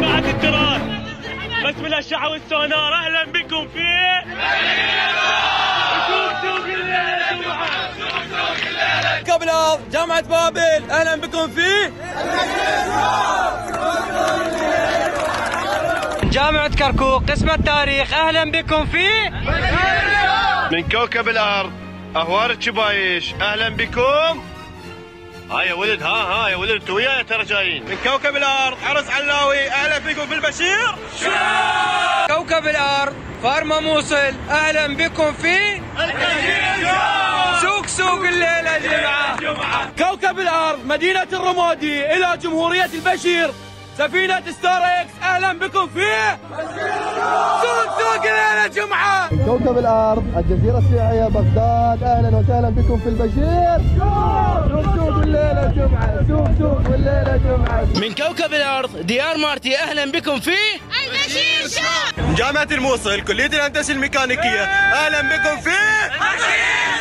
بعد التراث بس بالاشعه والسونار اهلا بكم في كوكب الارض جامعه بابل اهلا بكم في جامعه كركوك قسم التاريخ اهلا بكم في من كوكب الارض اهوار الشبايش اهلا بكم. ها يا ولد ها يا ولد انتوا وياي ترى جايين. من كوكب الارض عرس علاوي اهلا بكم في البشير. كوكب الارض فارما موصل اهلا بكم في البشير. سوق الليله جمعه. كوكب الارض مدينه الرمادي الى جمهوريه البشير سفينه ستار اكس اهلا بكم في سوق الليله جمعه. من كوكب الارض الجزيره السياحيه بغداد اهلا وسهلا بكم في البشير. سوق الليله جمعه. سوق والليله جمعه. من كوكب الارض ديار مارتي اهلا بكم في البشير شو. من جامعه الموصل كليه الهندسه الميكانيكيه اهلا بكم في البشير.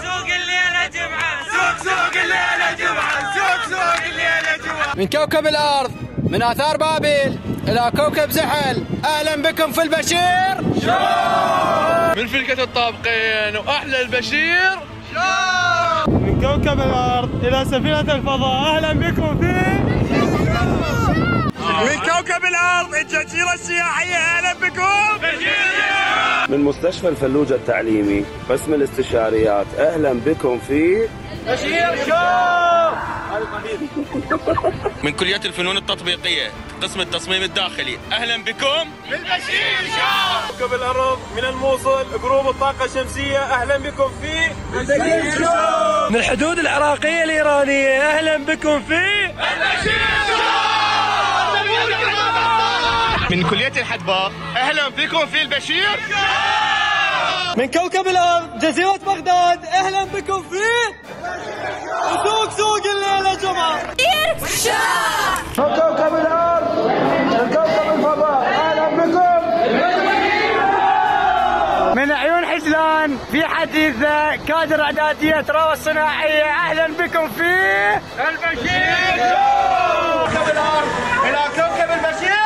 سوق الليله جمعه. سوق الليله جمعه. سوق الليله جمعه. من كوكب الارض من اثار بابل الى كوكب زحل اهلا بكم في البشير. من فلكة الطابقين واحلى البشير. من كوكب الارض الى سفينه الفضاء اهلا بكم في من كوكب الارض الجزيره السياحيه اهلا بكم. من مستشفى الفلوجة التعليمي قسم الاستشاريات اهلا بكم في بشير شو. من كلية الفنون التطبيقية قسم التصميم الداخلي أهلا بكم بالبشير شو. كوكب الأرض من الموصل جروب الطاقة الشمسية أهلا بكم في البشير شو. من الحدود العراقيه الايرانيه اهلا بكم في البشير شو. من كلية الحدباء اهلا بكم في البشير. من كوكب الأرض جزيرة بغداد أهلا بكم في سوق الليلة جمعة. من كوكب الارض من كوكب الفضاء اهلا بكم. من عيون حجلان في حديثة كادر اعداديه تراوى الصناعيه اهلا بكم في البشير كوكب الأرض إلى كوكب البشير.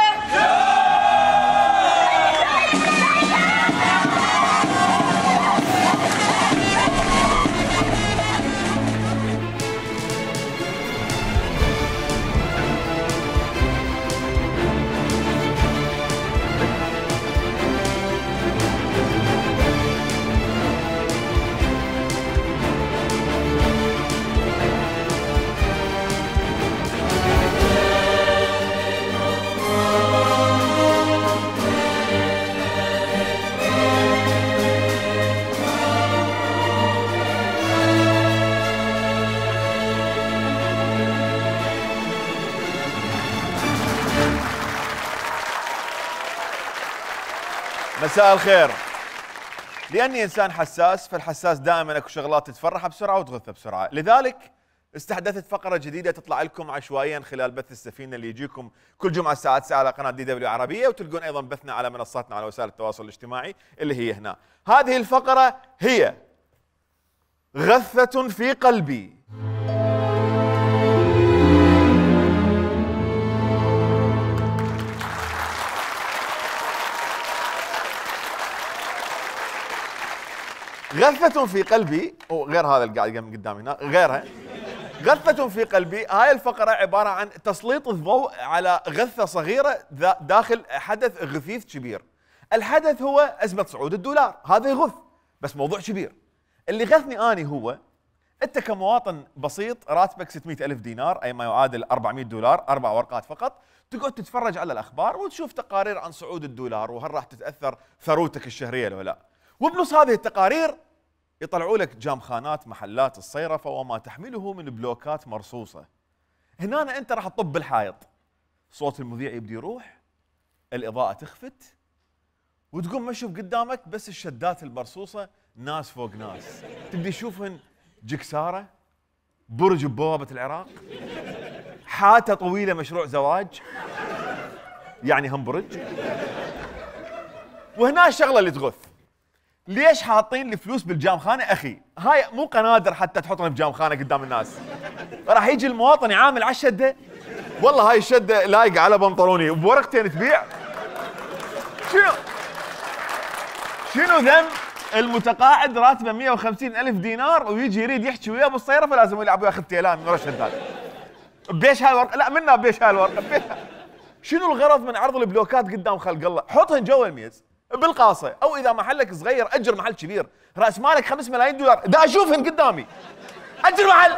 مساء الخير. لاني انسان حساس، فالحساس دائما اكو شغلات تتفرحه بسرعه وتغثه بسرعه، لذلك استحدثت فقره جديده تطلع لكم عشوائيا خلال بث السفينه اللي يجيكم كل جمعه الساعه 9 على قناه DW عربيه، وتلقون ايضا بثنا على منصاتنا على وسائل التواصل الاجتماعي اللي هي هنا. هذه الفقره هي غثه في قلبي. غثة في قلبي، وغير هذا اللي قاعد قدامي هنا غيرها. غثة في قلبي، هاي الفقرة عبارة عن تسليط الضوء على غثة صغيرة داخل حدث غثيث كبير. الحدث هو أزمة صعود الدولار، هذا يغث، بس موضوع كبير. اللي غثني أني هو أنت كمواطن بسيط راتبك 600 ألف دينار أي ما يعادل 400 دولار، 4 ورقات فقط، تقعد تتفرج على الأخبار وتشوف تقارير عن صعود الدولار وهل راح تتأثر ثروتك الشهرية ولا لا. وبنص هذه التقارير يطلعوا لك جامخانات محلات الصيرفة وما تحمله من بلوكات مرصوصة. هنا أنت راح تطب بالحائط، صوت المذيع يبدي يروح، الإضاءة تخفت، وتقوم مشوف قدامك بس الشدات المرصوصة ناس فوق ناس، تبدي تشوفهن جكسارة، برج ببوابة العراق، حاتة طويلة مشروع زواج، يعني هم برج. وهنا الشغلة اللي تغث، ليش حاطين لي فلوس بالجامخانه اخي؟ هاي مو قنادر حتى تحطهم بجامخانه قدام الناس. راح يجي المواطن يعامل على الشده، والله هاي الشده لايقه على بنطلوني وبورقتين تبيع. شنو ذنب المتقاعد راتبه 150,000 دينار ويجي يريد يحكي وياه بالصيرفه فلازم يلعب وياخذ تيلان من ورا الشداد. بيش هاي الورقه؟ لا منا بيش هاي الورقه. شنو الغرض من عرض البلوكات قدام خلق الله؟ حطهن جوا الميز بالقاصه، او اذا محلك صغير اجر محل كبير، راس مالك 5 ملايين دولار، دا اشوفهن قدامي. اجر محل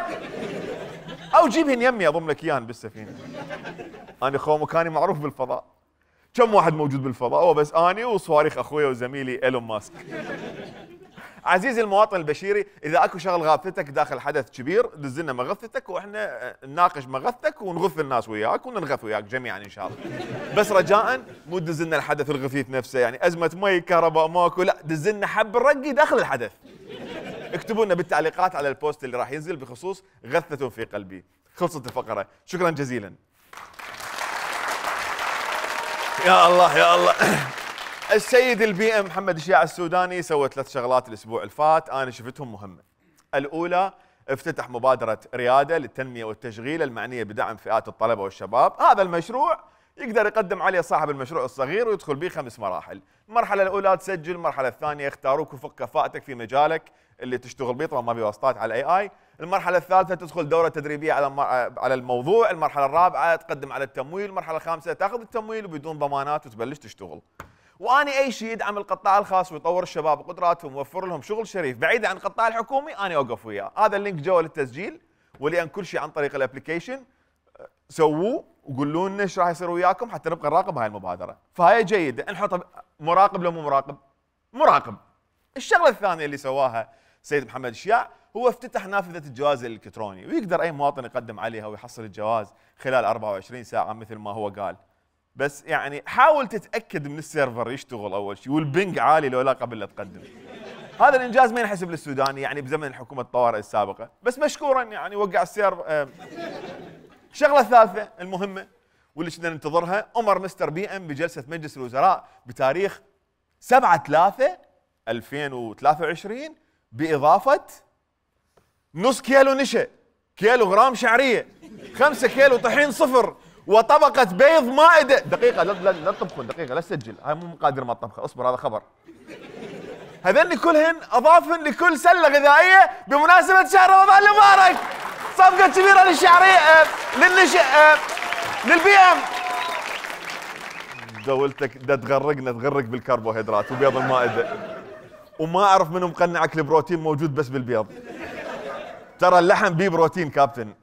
او جيبهن يمي اضم لك اياهن بالسفينه. انا خو مكاني معروف بالفضاء. كم واحد موجود بالفضاء؟ هو بس اني وصواريخ اخويا وزميلي ايلون ماسك. عزيزي المواطن البشيري، اذا اكو شغل غاثتك داخل حدث كبير دز لنا مغثتك واحنا نناقش مغثتك ونغث الناس وياك وننغث وياك جميعا ان شاء الله. بس رجاء مو تدز لنا الحدث الغثيث نفسه، يعني ازمه مي كهرباء ماكو، لا دز لنا حب الرقي داخل الحدث. اكتبوا لنا بالتعليقات على البوست اللي راح ينزل بخصوص غثة في قلبي. خلصت الفقره، شكرا جزيلا. يا الله يا الله. السيد البي ام محمد الشياع السوداني سوى 3 شغلات الاسبوع الفات انا شفتهم مهمه. الاولى افتتح مبادره رياده للتنميه والتشغيل المعنيه بدعم فئات الطلبه والشباب. هذا المشروع يقدر يقدم عليه صاحب المشروع الصغير ويدخل به 5 مراحل. المرحله الاولى تسجل، المرحله الثانيه يختاروك وفق كفاءتك في مجالك اللي تشتغل به، طبعا ما في واسطات على الاي اي. المرحله الثالثه تدخل دوره تدريبيه على الموضوع. المرحله الرابعه تقدم على التمويل. المرحله الخامسه تاخذ التمويل وبدون ضمانات وتبلش تشتغل. واني اي شيء يدعم القطاع الخاص ويطور الشباب وقدراتهم ويوفر لهم شغل شريف بعيدا عن القطاع الحكومي انا اوقف وياه. هذا اللينك جوا للتسجيل، ولان كل شيء عن طريق الابلكيشن سووه وقولوا لنا ايش راح يصير وياكم حتى نبقى نراقب هاي المبادره. فهي جيده، نحط مراقب لو مو مراقب؟ مراقب. الشغله الثانيه اللي سواها سيد محمد الشياع هو افتتح نافذه الجواز الالكتروني، ويقدر اي مواطن يقدم عليها ويحصل الجواز خلال 24 ساعه مثل ما هو قال. بس يعني حاول تتاكد من السيرفر يشتغل اول شيء والبنج عالي لو لا قبل لا تقدم. هذا الانجاز ما ينحسب للسوداني يعني بزمن حكومه الطوارئ السابقه، بس مشكورا يعني وقع السيرفر. الشغله الثالثه المهمه واللي كنا ننتظرها، امر مستر بي ام بجلسه مجلس الوزراء بتاريخ 7/3/2023 باضافه نص كيلو نشا، كيلو غرام شعريه، 5 كيلو طحين صفر، وطبقة بيض مائدة. دقيقة لا تطبخون، دقيقة لا تسجل، هاي مو مقادير ما الطبخة، اصبر هذا خبر. هذني كلهن اضافن لكل سلة غذائية بمناسبة شهر رمضان المبارك. صفقة كبيرة للشعرية للبي ام. دولتك دا تغرق بالكربوهيدرات وبيض المائدة. وما اعرف منو مقنعك البروتين موجود بس بالبيض. ترى اللحم بيه بروتين كابتن.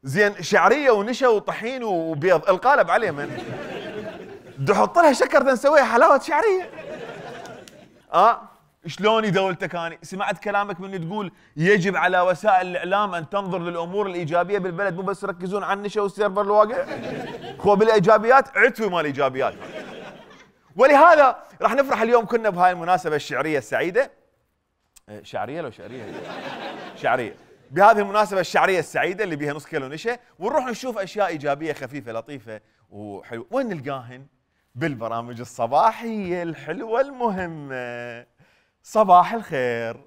زين شعريه ونشا وطحين وبيض، القالب عليه من تحط لها شكر نسويها حلاوه شعريه. شلوني دولتك اني سمعت كلامك من تقول يجب على وسائل الاعلام ان تنظر للامور الايجابيه بالبلد، مو بس يركزون على النشا والسيرفر الواقع. هو بالايجابيات عتوي مال الايجابيات. ولهذا راح نفرح اليوم كنا بهاي المناسبه الشعريه السعيده. شعريه لو شعريه؟ شعريه. بهذه المناسبة الشعرية السعيدة اللي بيها نص كيلو نشا، ونروح نشوف أشياء إيجابية خفيفة لطيفة وحلوة. وين نلقاهن؟ بالبرامج الصباحية الحلوة المهمة. صباح الخير.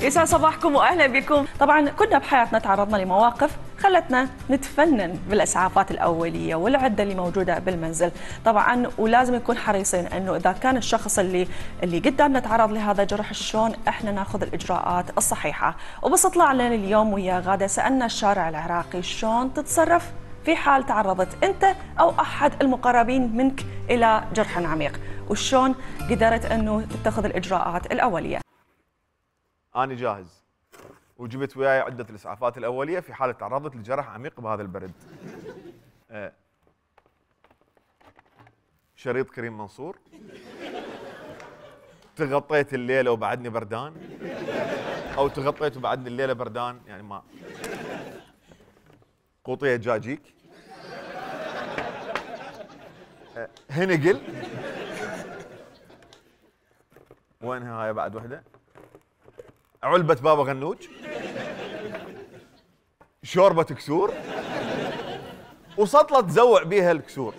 يسعد صباحكم واهلا بكم. طبعا كنا بحياتنا تعرضنا لمواقف خلتنا نتفنن بالاسعافات الاوليه والعده اللي موجوده بالمنزل، طبعا ولازم نكون حريصين انه اذا كان الشخص اللي قدامنا تعرض لهذا الجرح شلون احنا ناخذ الاجراءات الصحيحه. وبس طلعنا اليوم ويا غاده سالنا الشارع العراقي شلون تتصرف في حال تعرضت انت او احد المقربين منك الى جرح عميق، وشلون قدرت انه تتخذ الاجراءات الاوليه. أنا جاهز وجبت وياي عدة الإسعافات الأولية في حالة تعرضت لجرح عميق بهذا البرد. شريط كريم منصور، تغطيت الليلة وبعدني بردان، أو تغطيت وبعدني الليلة بردان، يعني ما. قوطية جاجيك، هنقل، وينها هاي بعد وحدة؟ علبة بابا غنوج، شوربة كسور، وسطلة تزوع بيها الكسور.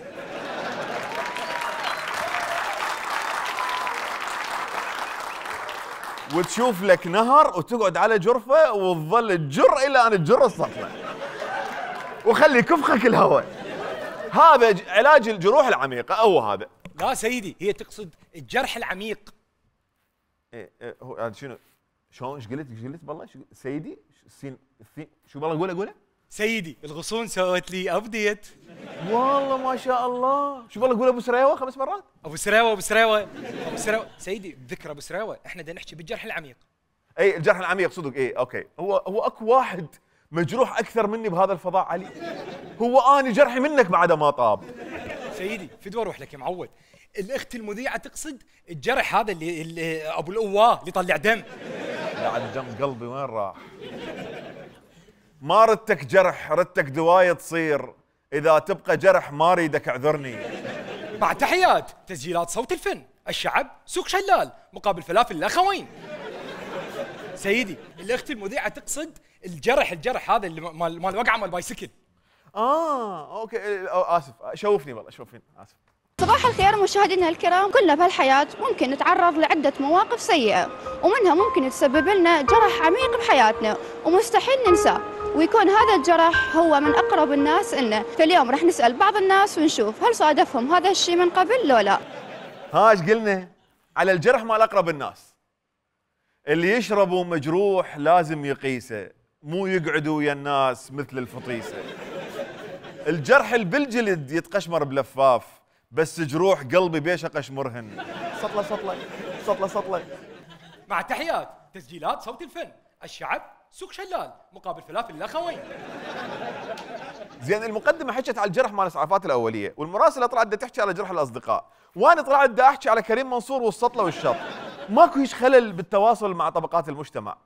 وتشوف لك نهر وتقعد على جرفه وتظل تجر الى ان تجر السطله وخلي يكفخك الهواء. هذا علاج الجروح العميقه. هو هذا. لا سيدي، هي تقصد الجرح العميق. ايه هو هذا شنو؟ شلون ايش قلت بالله سيدي؟ السين شو بالله قوله سيدي الغصون سوت لي ابديت. والله ما شاء الله. شو بالله قوله ابو سريوه 5 مرات؟ ابو سريوه سيدي بذكر ابو سريوه احنا بدنا نحكي بالجرح العميق. اي الجرح العميق صدق. اي اوكي. هو اكو واحد مجروح اكثر مني بهذا الفضاء علي. هو اني جرحي منك بعد ما طاب. سيدي فدوى اروح لك يا معود. الاخت المذيعه تقصد الجرح هذا اللي ابو القواه اللي طلع دم. بعد دم قلبي وين راح؟ ما ردتك جرح، ردتك دوايه تصير. اذا تبقى جرح ما اريدك اعذرني. مع تحيات تسجيلات صوت الفن، الشعب سوق شلال مقابل فلافل الاخوين. سيدي الاخت المذيعه تقصد الجرح هذا اللي مال وقعه مال بايسكل. اوكي. اسف شوفني والله شوفني اسف. صباح الخير مشاهدينا الكرام. كلنا بهالحياة ممكن نتعرض لعدة مواقف سيئة، ومنها ممكن تسبب لنا جرح عميق بحياتنا ومستحيل ننساه، ويكون هذا الجرح هو من أقرب الناس إلنا. فاليوم رح نسأل بعض الناس ونشوف هل صادفهم هذا الشيء من قبل لو لا. ايش قلنا؟ على الجرح مال أقرب الناس. اللي يشربوا مجروح لازم يقيسه، مو يقعدوا ويا الناس مثل الفطيسة. الجرح اللي بالجلد يتقشمر بلفاف، بس جروح قلبي بيشه قشمرهن. سطله. مع تحيات تسجيلات صوت الفن، الشعب سوق شلال مقابل فلافل الاخوين. زين المقدمه حكت على الجرح مال الاسعافات الاوليه، والمراسله طلعت بدها تحكي على جرح الاصدقاء، وانا طلعت بدي احكي على كريم منصور والسطله والشط. ماكو هيش خلل بالتواصل مع طبقات المجتمع،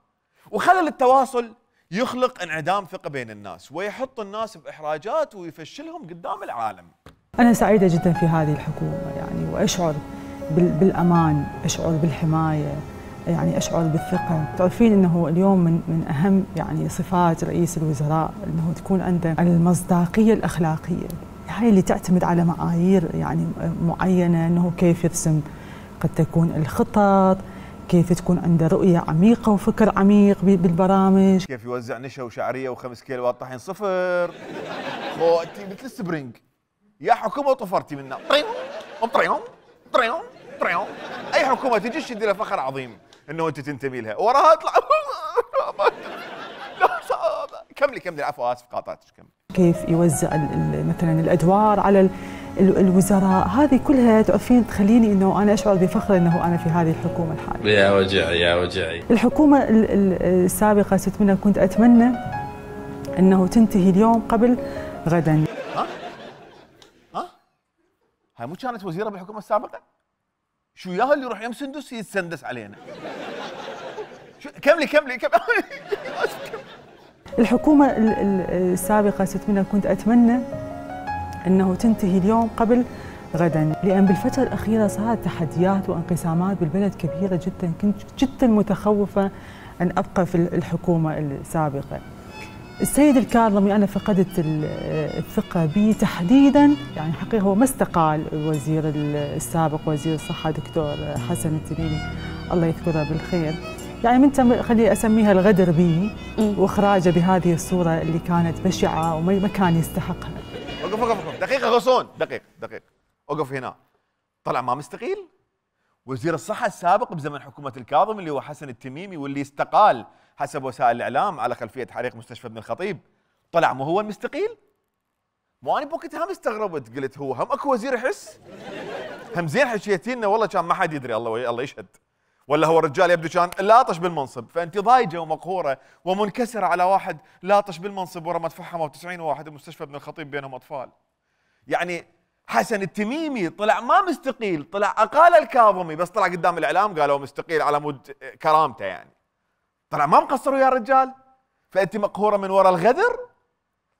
وخلل التواصل يخلق انعدام ثقه بين الناس ويحط الناس باحراجات ويفشلهم قدام العالم. أنا سعيدة جدا في هذه الحكومة يعني، وأشعر بالأمان، أشعر بالحماية، يعني أشعر بالثقة. تعرفين أنه اليوم من أهم يعني صفات رئيس الوزراء أنه تكون عنده المصداقية الأخلاقية، هاي اللي تعتمد على معايير يعني معينة، أنه كيف يرسم قد تكون الخطط، كيف تكون عنده رؤية عميقة وفكر عميق بالبرامج، كيف يوزع نشا وشعرية و5 كيلوات طحين صفر. خوتي مثل السبرينج. يا حكومه طفرتي منا طريون. اي حكومه تجي تشد لها فخر عظيم انه انت تنتمي لها، وراها اطلع كملي العفو اسف قاطعتك. كملي. كيف يوزع مثلا الادوار على الوزراء، هذه كلها تعرفين تخليني انه انا اشعر بفخر انه انا في هذه الحكومه الحاليه. يا وجعي. الحكومه السابقه ست منها كنت اتمنى انه تنتهي اليوم قبل غدا. هاي مو كانت وزيره بالحكومه السابقه؟ شو ياها اللي يروح يم سندس يتسندس علينا؟ كملي. الحكومه السابقه ست منها كنت اتمنى انه تنتهي اليوم قبل غدا، لان بالفتره الاخيره صارت تحديات وانقسامات بالبلد كبيره جدا. كنت جدا متخوفه ان ابقى في الحكومه السابقه. السيد الكاظمي أنا فقدت الثقة به تحديداً، يعني حقيقة هو ما استقال الوزير السابق وزير الصحة دكتور حسن التميمي الله يذكره بالخير، يعني من خلي أسميها الغدر به وإخراجه بهذه الصورة اللي كانت بشعة وما كان يستحقها. وقف دقيقة غصون، دقيق وقف هنا. طلع ما مستقيل؟ وزير الصحة السابق بزمن حكومة الكاظمي اللي هو حسن التميمي، واللي استقال حسب وسائل الإعلام على خلفية حريق مستشفى ابن الخطيب، طلع مو هو المستقيل؟ مو أنا بوقتها هم استغربت، قلت هو هم أكو وزير يحس؟ هم زين حكيتي لنا والله كان ما حد يدري، الله يشهد، ولا هو الرجال يبدو كان لاطش بالمنصب، فأنت ضايجة ومقهورة ومنكسرة على واحد لاطش بالمنصب ورا ما تفحموا 90 واحد بمستشفى ابن الخطيب بينهم أطفال. يعني حسن التميمي طلع ما مستقيل، طلع أقال الكاظمي، بس طلع قدام الإعلام قالوا مستقيل على مود كرامته، يعني طلع ما مقصروا يا رجال. فأنت مقهورة من وراء الغدر.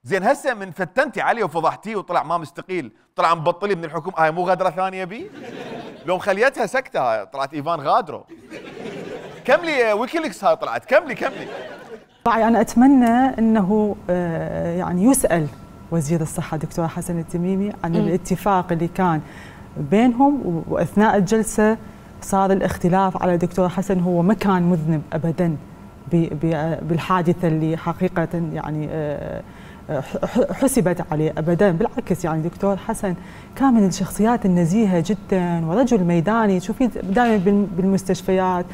زين هسه من فتنتي عليه وفضحتيه وطلع ما مستقيل، طلع مبطلي من الحكومة، هاي مو غدرة ثانية بي؟ لو مخليتها سكتة طلعت إيفان غادرو. كملي ويكيليكس هاي طلعت، كملي. طبعا أنا أتمنى أنه يعني يسأل وزير الصحة دكتور حسن التميمي عن الاتفاق اللي كان بينهم، وأثناء الجلسة صار الاختلاف على دكتور حسن. هو ما كان مذنب ابدا بالحادثه اللي حقيقه يعني حسبت عليه ابدا. بالعكس يعني دكتور حسن كان من الشخصيات النزيهه جدا ورجل ميداني. تشوفين دائما بالمستشفيات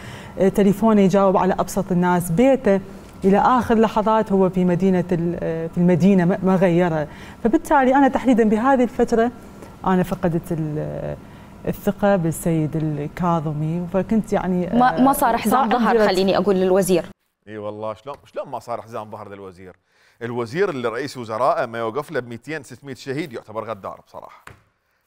تليفونه يجاوب على ابسط الناس، بيته الى اخر لحظات هو في المدينه ما غيرها. فبالتالي انا تحديدا بهذه الفتره انا فقدت الثقه بالسيد الكاظمي، فكنت يعني ما صار حزام ظهر خليني اقول للوزير. اي والله شلون ما صار حزام ظهر للوزير؟ الوزير اللي رئيس وزرائه ما يوقف له ب 200 600 شهيد يعتبر غدار بصراحه.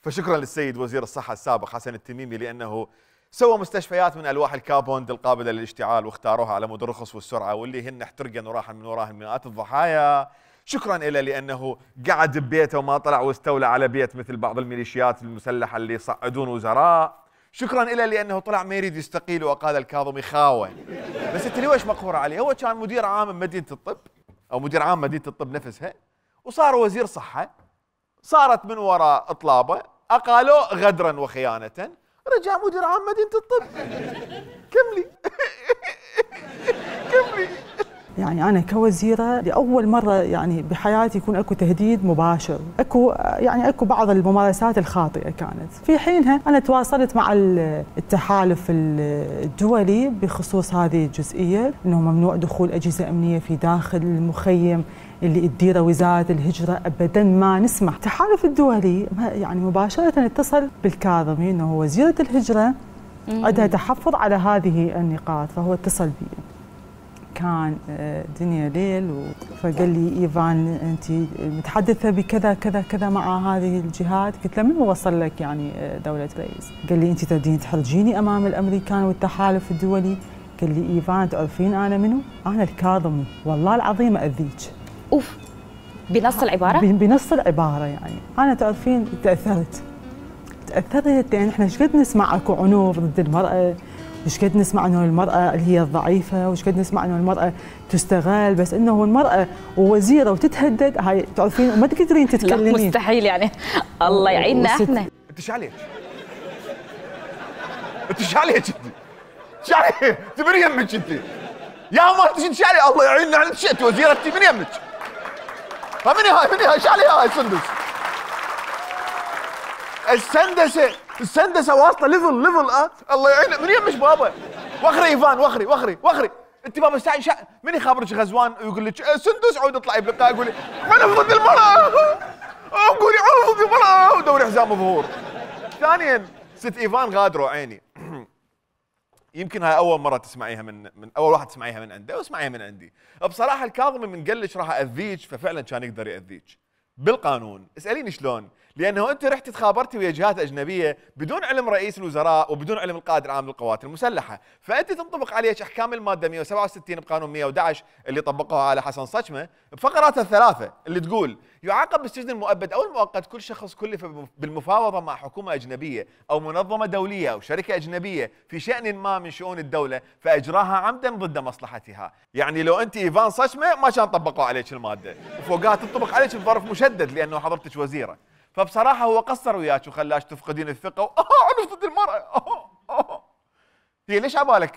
فشكرا للسيد وزير الصحه السابق حسن التميمي لانه سوى مستشفيات من الواح الكابوند القابله للاشتعال واختاروها على مود الرخص والسرعه واللي هن احترقن وراح من وراها مئات الضحايا. شكرا له لانه قعد ببيته وما طلع واستولى على بيت مثل بعض الميليشيات المسلحه اللي يصعدون وزراء. شكرا له لانه طلع ما يريد يستقيل وقال الكاظمي خاوه. بس انت ليش مقهور عليه؟ هو كان مدير عام مدينه الطب او مدير عام مدينه الطب نفسها وصار وزير صحه، صارت من وراء اطلابه اقالوه غدرا وخيانه، رجع مدير عام مدينه الطب. كملي كملي. يعني أنا كوزيرة لأول مرة يعني بحياتي يكون أكو تهديد مباشر، أكو بعض الممارسات الخاطئة كانت. في حينها أنا تواصلت مع التحالف الدولي بخصوص هذه الجزئية، أنه ممنوع دخول أجهزة أمنية في داخل المخيم اللي تديره وزارة الهجرة، أبداً ما نسمح. التحالف الدولي يعني مباشرة اتصل بالكاظمي أنه وزيرة الهجرة عندها تحفظ على هذه النقاط، فهو اتصل بي. كان دنيا ليل فقال لي إيفان أنت متحدثة بكذا كذا كذا مع هذه الجهات. قلت له من وصل لك يعني دولة رئيس؟ قال لي أنت تريدين تحرجيني أمام الأمريكان والتحالف الدولي. قال لي إيفان تعرفين أنا منو؟ أنا الكاظمي، والله العظيم أذيك. أوف، بنص العبارة؟ بنص العبارة. يعني أنا تعرفين تأثرت لأن إحنا ايش قد نسمع أكو عنف ضد المرأة، وش قد نسمع انه المرأة اللي هي الضعيفة، وش قد نسمع انه المرأة تستغل، بس انه المرأة ووزيرة وتتهدد، هاي تعرفين وما تقدرين تتكلمين. لا مستحيل يعني. الله يعيننا احنا. انت ايش عليك؟ انت ايش عليك انت؟ ايش عليك؟ انت من يمك انت؟ يا ما انت ايش عليك؟ الله يعيننا على شئت وزيرة انت من يمك؟ من هاي ايش عليها هاي السندس؟ السندسه واصله ليفل الله يعينك من يمش بابا. وخري ايفان وخري انت بابا من يخابرك غزوان ويقول لك سندس عود اطلعي بلقاء قولي انا ضد المراه، قولي انا ضد المراه ودوري حزام ظهور. ثانيا ست ايفان غادروا عيني. يمكن هاي اول مره تسمعيها من اول واحد تسمعيها من عنده واسمعيها من عندي. بصراحه الكاظمي من قال لك راح اذيك ففعلا كان يقدر ياذيك بالقانون. اساليني شلون؟ لانه انت رحتي تخابرتي ويا جهات اجنبيه بدون علم رئيس الوزراء وبدون علم القائد العام للقوات المسلحه، فانت تنطبق عليك احكام الماده 167 بقانون 111 اللي طبقوها على حسن صجمه بفقراتها الثلاثه اللي تقول يعاقب بالسجن المؤبد او المؤقت كل شخص كلف بالمفاوضه مع حكومه اجنبيه او منظمه دوليه او شركه اجنبيه في شان ما من شؤون الدوله فاجراها عمدا ضد مصلحتها. يعني لو انت ايفان صجمه ما كان طبقوا عليك الماده، وفوقها تنطبق عليك بظرف مشدد لانه حضرتك وزيره. فبصراحه هو قصر وياك وخلاك تفقدين الثقه عنف ضد المراه. هي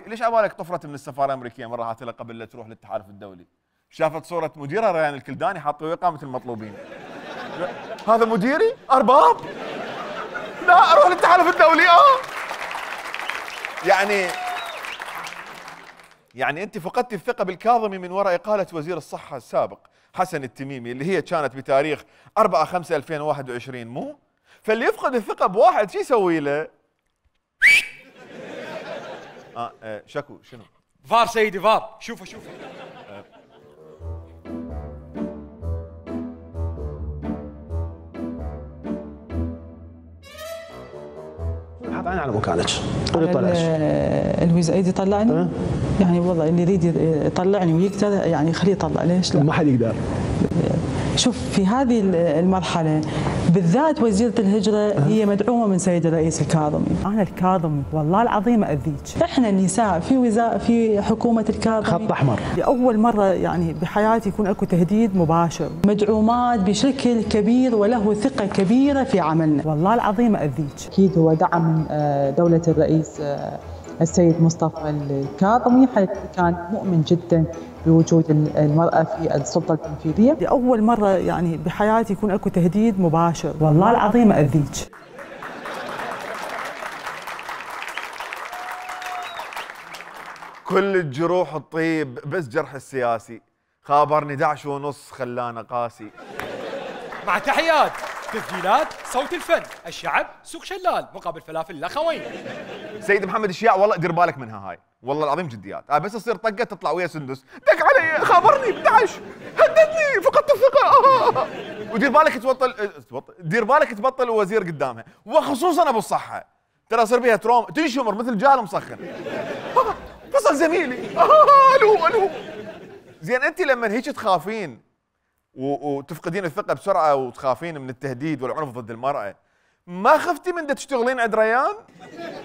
ليش عبالك طفرت من السفاره الامريكيه مره هاتلها قبل لا تروح للتحالف الدولي؟ شافت صوره مديرها ريان الكلداني حاطه وقاه مثل المطلوبين. هذا مديري؟ ارباب؟ لا اروح للتحالف الدولي. يعني انت فقدتي الثقه بالكاظمي من وراء اقاله وزير الصحه السابق حسن التميمي اللي هي كانت بتاريخ 4/5/2021 مو؟ فاللي يفقد الثقه بواحد شو يسوي له؟ شكو شنو؟ فار سيدي فار. شوفه حط عيني على مكانك. الوزير يطلعني؟ يعني والله اللي يريد يطلعني ويقدر يعني خليه يطلع. ليش لا؟ ما حد يقدر. شوف في هذه المرحله بالذات وزيرة الهجرة هي مدعومة من سيد الرئيس الكاظمي. أنا الكاظمي والله العظيم أذيك. إحنا النساء في حكومة الكاظمي خط أحمر. لأول مرة يعني بحياتي يكون أكو تهديد مباشر، مدعومات بشكل كبير وله ثقة كبيرة في عملنا. والله العظيم أذيك. أكيد هو دعم من دولة الرئيس السيد مصطفى الكاظمي، حيث كان مؤمن جدا بوجود المرأة في السلطة التنفيذية. لأول مرة يعني بحياتي يكون أكو تهديد مباشر. والله العظيم أذيك. كل الجروح الطيب بس جرح السياسي، خابرني 11:30 خلانا قاسي. مع تحيات تسجيلات صوت الفن، الشعب سوق شلال مقابل فلافل الاخوين. سيد محمد الشياع والله دير بالك منها هاي، والله العظيم جديات، بس تصير طقه تطلع ويا سندس، دق علي خابرني 11 هددني فقدت الثقه. ودير بالك دير بالك تبطل وزير قدامها، وخصوصا ابو الصحه، ترى يصير بيها تروم تنشمر مثل جال مسخن. فصل زميلي الو زين. انت لما هيك تخافين وتفقدين الثقه بسرعه وتخافين من التهديد والعنف ضد المراه، ما خفتي من تشتغلين عند ريان؟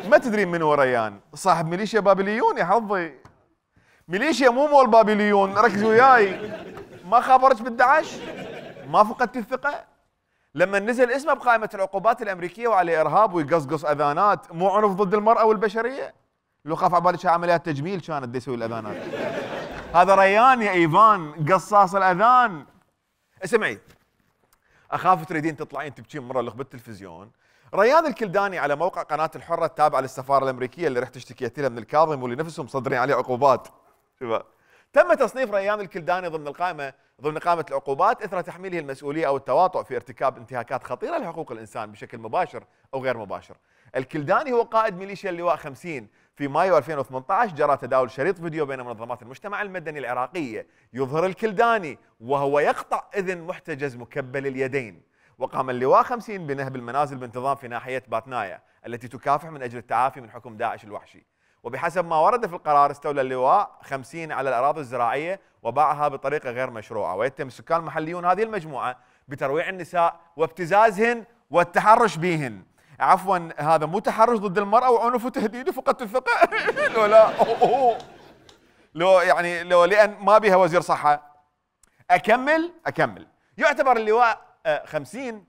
ما تدرين من هو ريان؟ صاحب ميليشيا بابليون يا حظي. ميليشيا مو مول بابليون، ركزي وياي. ما خابرك بال11؟ ما فقدتي الثقه؟ لما نزل اسمه بقائمه العقوبات الامريكيه وعليه ارهاب ويقصقص اذانات، مو عنف ضد المراه والبشريه؟ لو خاف على بالك عمليات تجميل كانت يسوي الاذانات. هذا ريان يا ايفان، قصاص الاذان. اسمعي، اخاف تريدين تطلعين تبكين مره لخ بالتلفزيون. ريان الكلداني على موقع قناه الحره التابعه للسفاره الامريكيه اللي رحت اشتكيت لها من الكاظم واللي نفسهم مصدرين عليه عقوبات. تم تصنيف ريان الكلداني ضمن قائمه العقوبات اثر تحميله المسؤوليه او التواطؤ في ارتكاب انتهاكات خطيره لحقوق الانسان بشكل مباشر او غير مباشر. الكلداني هو قائد ميليشيا اللواء 50. في مايو 2018 جرى تداول شريط فيديو بين منظمات المجتمع المدني العراقية يظهر الكلداني وهو يقطع إذن محتجز مكبل اليدين. وقام اللواء 50 بنهب المنازل بانتظام في ناحية باتنايا التي تكافح من أجل التعافي من حكم داعش الوحشي. وبحسب ما ورد في القرار استولى اللواء 50 على الأراضي الزراعية وباعها بطريقة غير مشروعة، ويتهم السكان المحليون هذه المجموعة بترويع النساء وابتزازهن والتحرش بهن. عفوا، هذا مو تحرش ضد المرأة وعنف وتهديد وفقدت الثقة. لو لا لو لأن ما بها وزير صحة. أكمل. يعتبر اللواء 50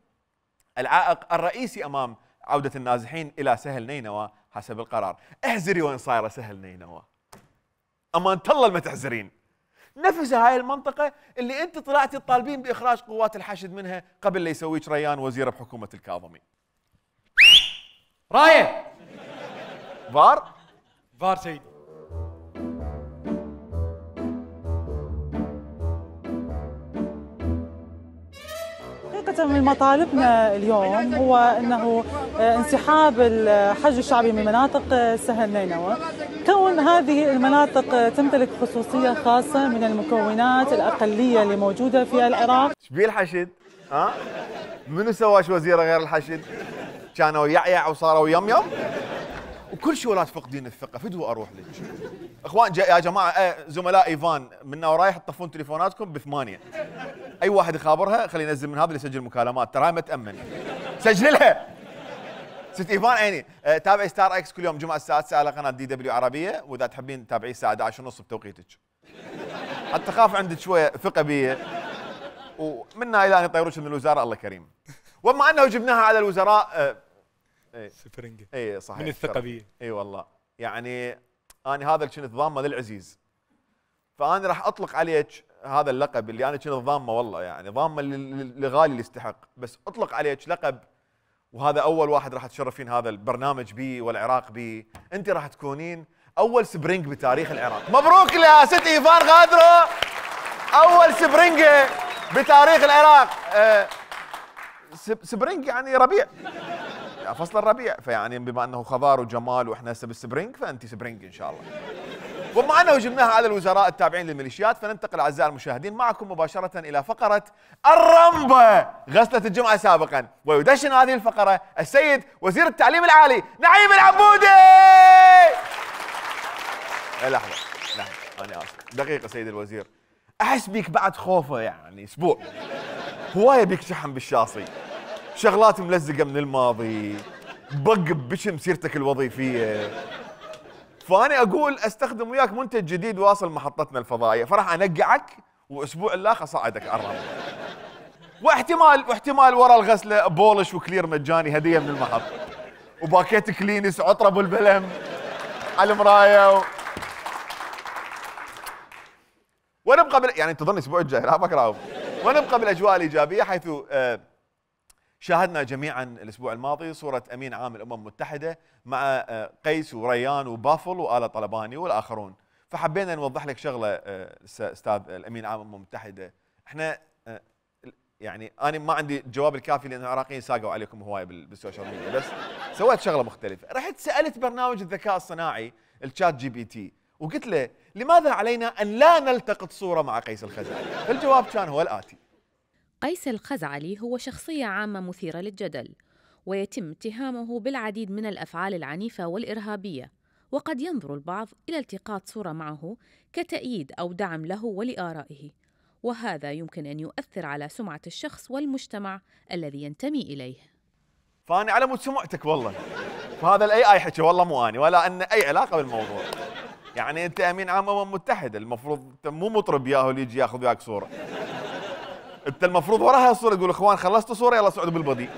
العائق الرئيسي أمام عودة النازحين إلى سهل نينوى حسب القرار. احذري وين صايرة سهل نينوى، أمان الله ما تحذرين. نفس هاي المنطقة اللي أنت طلعتي تطالبين بإخراج قوات الحشد منها قبل لا يسويك ريان وزير بحكومة الكاظمي. رايه فار سيدي. حقيقة من مطالبنا اليوم هو انه انسحاب الحج الشعبي من مناطق سهل نينوى، كون هذه المناطق تمتلك خصوصية خاصة من المكونات الأقلية اللي موجودة في العراق. شبيه الحشد؟ منو سواش وزيره غير الحشد؟ كانوا يعيع وصاروا يم وكل شيء ولا تفقدين الثقه. فدوى اروح لك اخوان يا جماعه. زملاء ايفان منا ورايح تطفون تليفوناتكم ب8. اي واحد يخابرها خليه ينزل من هذا اللي يسجل مكالمات، تراها ما تامن. سجلها ست ايفان عيني. تابعي ستار اكس كل يوم جمعه الساعه 9 على قناه DW عربيه، واذا تحبين تتابعيه الساعه 11:30 بتوقيتك، حتى خاف عندك شويه ثقه بي. ومنا الى ان يطيروش من الوزاره الله كريم. وبما انه جبناها على الوزراء سفرنجة. اي صحيح من الثقه بيه. اي والله يعني انا هذا اللي كنت ضامه للعزيز، فانا راح اطلق عليك هذا اللقب اللي انا كنت ضامه، والله يعني ضامه لغالي اللي يستحق، بس اطلق عليك لقب، وهذا اول واحد راح تشرفين هذا البرنامج بيه والعراق بيه. انت راح تكونين اول سبرينج بتاريخ العراق. مبروك يا ست ايفان غادرو، اول سبرينجه بتاريخ العراق. سبرينج يعني ربيع، يعني فصل الربيع، فيعني بما انه خضار وجمال واحنا هسه بالسبرينج فانت سبرينج ان شاء الله. وبما انه جبناها على الوزراء التابعين للميليشيات، فننتقل اعزائي المشاهدين معكم مباشره الى فقره الرمبه غسله الجمعه سابقا، ويدشن هذه الفقره السيد وزير التعليم العالي نعيم العبودي. لحظه انا اسف، دقيقه سيد الوزير، احس بيك بعد خوفه يعني اسبوع، هوايه بيك شحن بالشاصي. شغلات ملزقه من الماضي، بق بشم سيرتك الوظيفيه. فاني اقول استخدم وياك منتج جديد واصل محطتنا الفضائيه، فراح انقعك واسبوع الاخر اصعدك على الرمل. واحتمال ورا الغسله بولش وكلير مجاني هديه من المحطه، وباكيت كلينس عطره بالبلم على المرايه ونبقى يعني انتظرني الاسبوع الجاي لا بكره. ونبقى بالاجواء الايجابيه، حيث شاهدنا جميعا الاسبوع الماضي صوره امين عام الامم المتحده مع قيس وريان وبافل وآلة طلباني والاخرون. فحبينا نوضح لك شغله استاذ الامين عام الامم المتحده، احنا يعني انا ما عندي الجواب الكافي لان العراقيين ساقوا عليكم هوايه بالسوشيال ميديا، بس سويت شغله مختلفه، رحت سالت برنامج الذكاء الصناعي الشات جي بي تي وقلت له لماذا علينا ان لا نلتقط صوره مع قيس الخزعلي؟ فالجواب كان هو الاتي: قيس الخزعلي هو شخصية عامة مثيرة للجدل، ويتم اتهامه بالعديد من الأفعال العنيفة والإرهابية، وقد ينظر البعض إلى التقاط صورة معه كتأييد أو دعم له ولآرائه، وهذا يمكن أن يؤثر على سمعة الشخص والمجتمع الذي ينتمي إليه. فأنا على مود سمعتك والله، فهذا الاي اي حكي والله مو اني ولا ان اي علاقه بالموضوع. يعني انت امين عام امم متحده، المفروض انت مو مطرب ياهو اللي يجي ياخذ وياك صوره. انت المفروض ورا هاي الصوره تقول اخوان خلصتوا صوره يلا صعدوا بالبدي.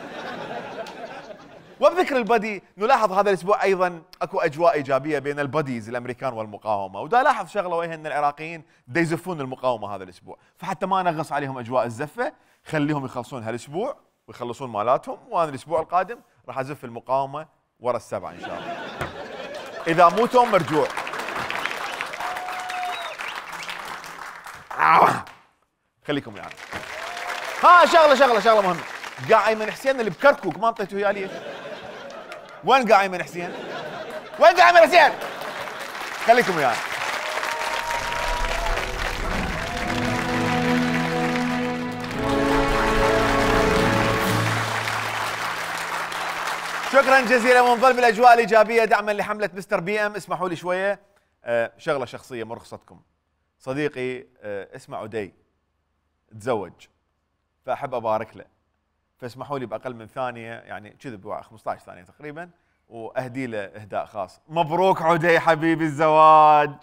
وبذكر البدي نلاحظ هذا الاسبوع ايضا اكو اجواء ايجابيه بين البديز الامريكان والمقاومه، ودا لاحظ شغله وهي ان العراقيين دا يزفون المقاومه هذا الاسبوع، فحتى ما نغص عليهم اجواء الزفه خليهم يخلصون هالاسبوع ويخلصون مالاتهم، وانا الاسبوع القادم راح ازف المقاومه ورا السبعه ان شاء الله. اذا مو توم مرجوع. خليكم يعني. ها شغله مهمه. قاع ايمن حسين اللي بكركوك ما انطيته اياه ليش؟ وين قاع ايمن حسين؟ وين قاع ايمن حسين؟ خليكم وياي. شكرا جزيلا، ونظل بالاجواء الايجابيه دعما لحمله مستر بي ام. اسمحوا لي شويه شغله شخصيه مرخصتكم. صديقي اسمه عدي تزوج، فاحب ابارك له، فاسمحوا لي باقل من ثانيه يعني كذب 15 ثانيه تقريبا واهدي له اهداء خاص. مبروك عدي حبيبي الزواج،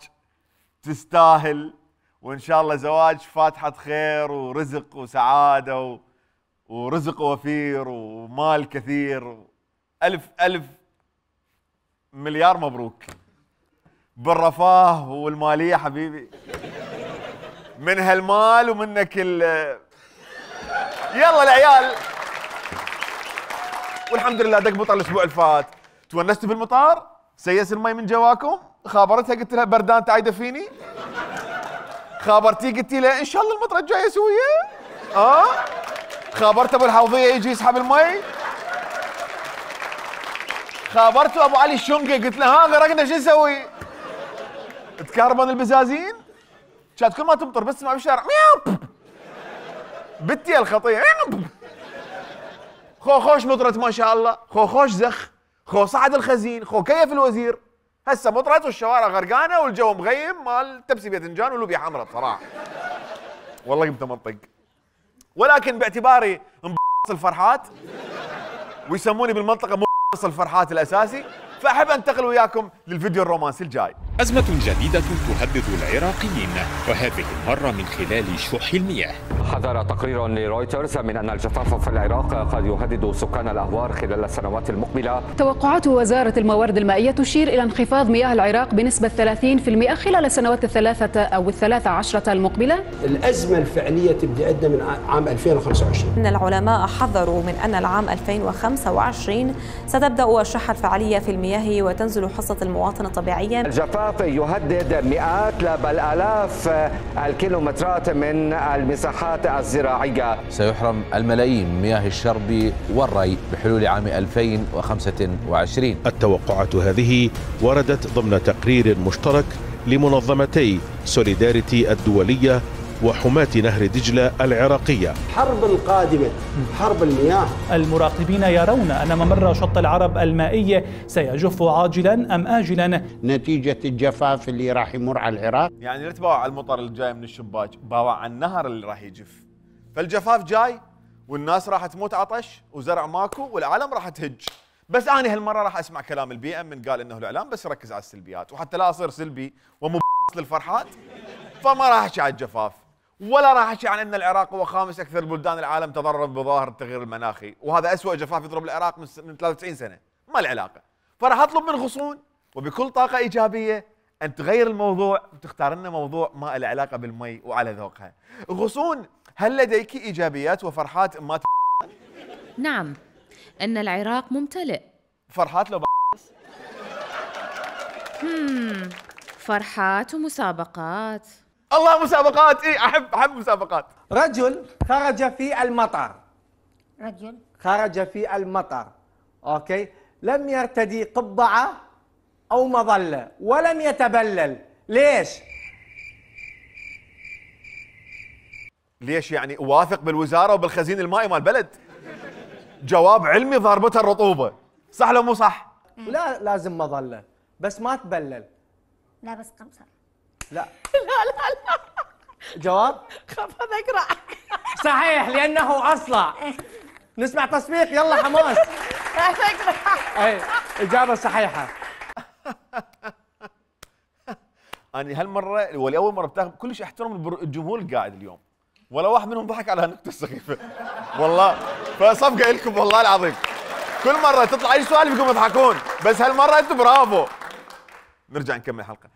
تستاهل، وان شاء الله زواج فاتحه خير ورزق وسعاده ورزق وفير ومال كثير. ألف مليار مبروك بالرفاه والماليه حبيبي، من هالمال ومنك يلا العيال. والحمد لله دق مطر الاسبوع الفات. تونستوا بالمطار؟ سيس المي من جواكم؟ خابرتها قلت لها بردان تعيده فيني؟ خابرتي قلتي له ان شاء الله المطره الجايه سويه؟ خابرت ابو الحوضيه يجي يسحب المي؟ خابرتوا ابو علي الشنقي قلت له ها غرقنا شو نسوي؟ تكهربن البزازين؟ كانت كل ما تمطر بس تسمع بالشارع مياو بتي الخطيه خوش مطرت ما شاء الله، خوش زخ، صعد الخزين، كيف الوزير. هسه مطرت والشوارع غرقانه والجو مغيم مال تبسي باذنجان ولوبيا حمراء بصراحه. والله قمت منطق. ولكن باعتباري الفرحات ويسموني بالمنطقه الفرحات الاساسي، فاحب انتقل وياكم للفيديو الرومانسي الجاي. أزمة جديدة تهدد العراقيين، وهذه المرة من خلال شح المياه. حذر تقرير لرويترز من أن الجفاف في العراق قد يهدد سكان الأهوار خلال السنوات المقبلة. توقعات وزارة الموارد المائية تشير إلى انخفاض مياه العراق بنسبة 30% خلال السنوات ال13 المقبلة. الأزمة الفعلية تبدأ من عام 2025. إن العلماء حذروا من أن العام 2025 ستبدأ الشحة الفعلية في المياه وتنزل حصة المواطن طبيعيا. الجفاف يهدد مئات لا بل آلاف الكيلومترات من المساحات الزراعية. سيحرم الملايين من مياه الشرب والري بحلول عام 2025. التوقعات هذه وردت ضمن تقرير مشترك لمنظمتي سوليداريتي الدولية وحماة نهر دجلة العراقية. حرب القادمة حرب المياه. المراقبين يرون أن ممر شط العرب المائي سيجف عاجلا أم آجلا نتيجة الجفاف اللي راح يمر على العراق. يعني لا تباوع على المطر اللي جاي من الشباك، باوع على النهر اللي راح يجف. فالجفاف جاي والناس راح تموت عطش وزرع ماكو والعالم راح تهج. بس انا هالمره راح اسمع كلام البي ام من قال انه الاعلام بس يركز على السلبيات، وحتى لا اصير سلبي للفرحات فما راح احكي على الجفاف ولا راح احكي عن ان العراق هو خامس اكثر بلدان العالم تضررا بظاهر التغيير المناخي، وهذا اسوء جفاف يضرب العراق من 93 سنه، ما العلاقه. فراح اطلب من غصون وبكل طاقه ايجابيه ان تغير الموضوع وتختار لنا موضوع ما له علاقه بالمي وعلى ذوقها. غصون، هل لديك ايجابيات وفرحات ما نعم، ان العراق ممتلئ. فرحات لو فرحات ومسابقات. الله مسابقات، اي احب مسابقات. رجل خرج في المطر. رجل خرج في المطر، اوكي، لم يرتدي قبعه او مظله ولم يتبلل، ليش؟ ليش يعني واثق بالوزاره وبالخزين المائي مال البلد؟ جواب علمي ضاربتها الرطوبه، صح لو مو صح؟ لا لازم مظله بس ما تبلل. لا بس قمصان. لا لا جواب خاف هذا اقرا. صحيح لانه اصلع. نسمع تصفيق، يلا حماس. اي اجابه صحيحه. انا هالمره ولاول مره بتاخذ كلش احترم الجمهور القاعد اليوم، ولا واحد منهم ضحك على هالنكته السخيفه والله، فصفقه لكم والله العظيم. كل مره تطلع اي سؤال بيقوموا يضحكون، بس هالمره انتم برافو. نرجع نكمل الحلقه.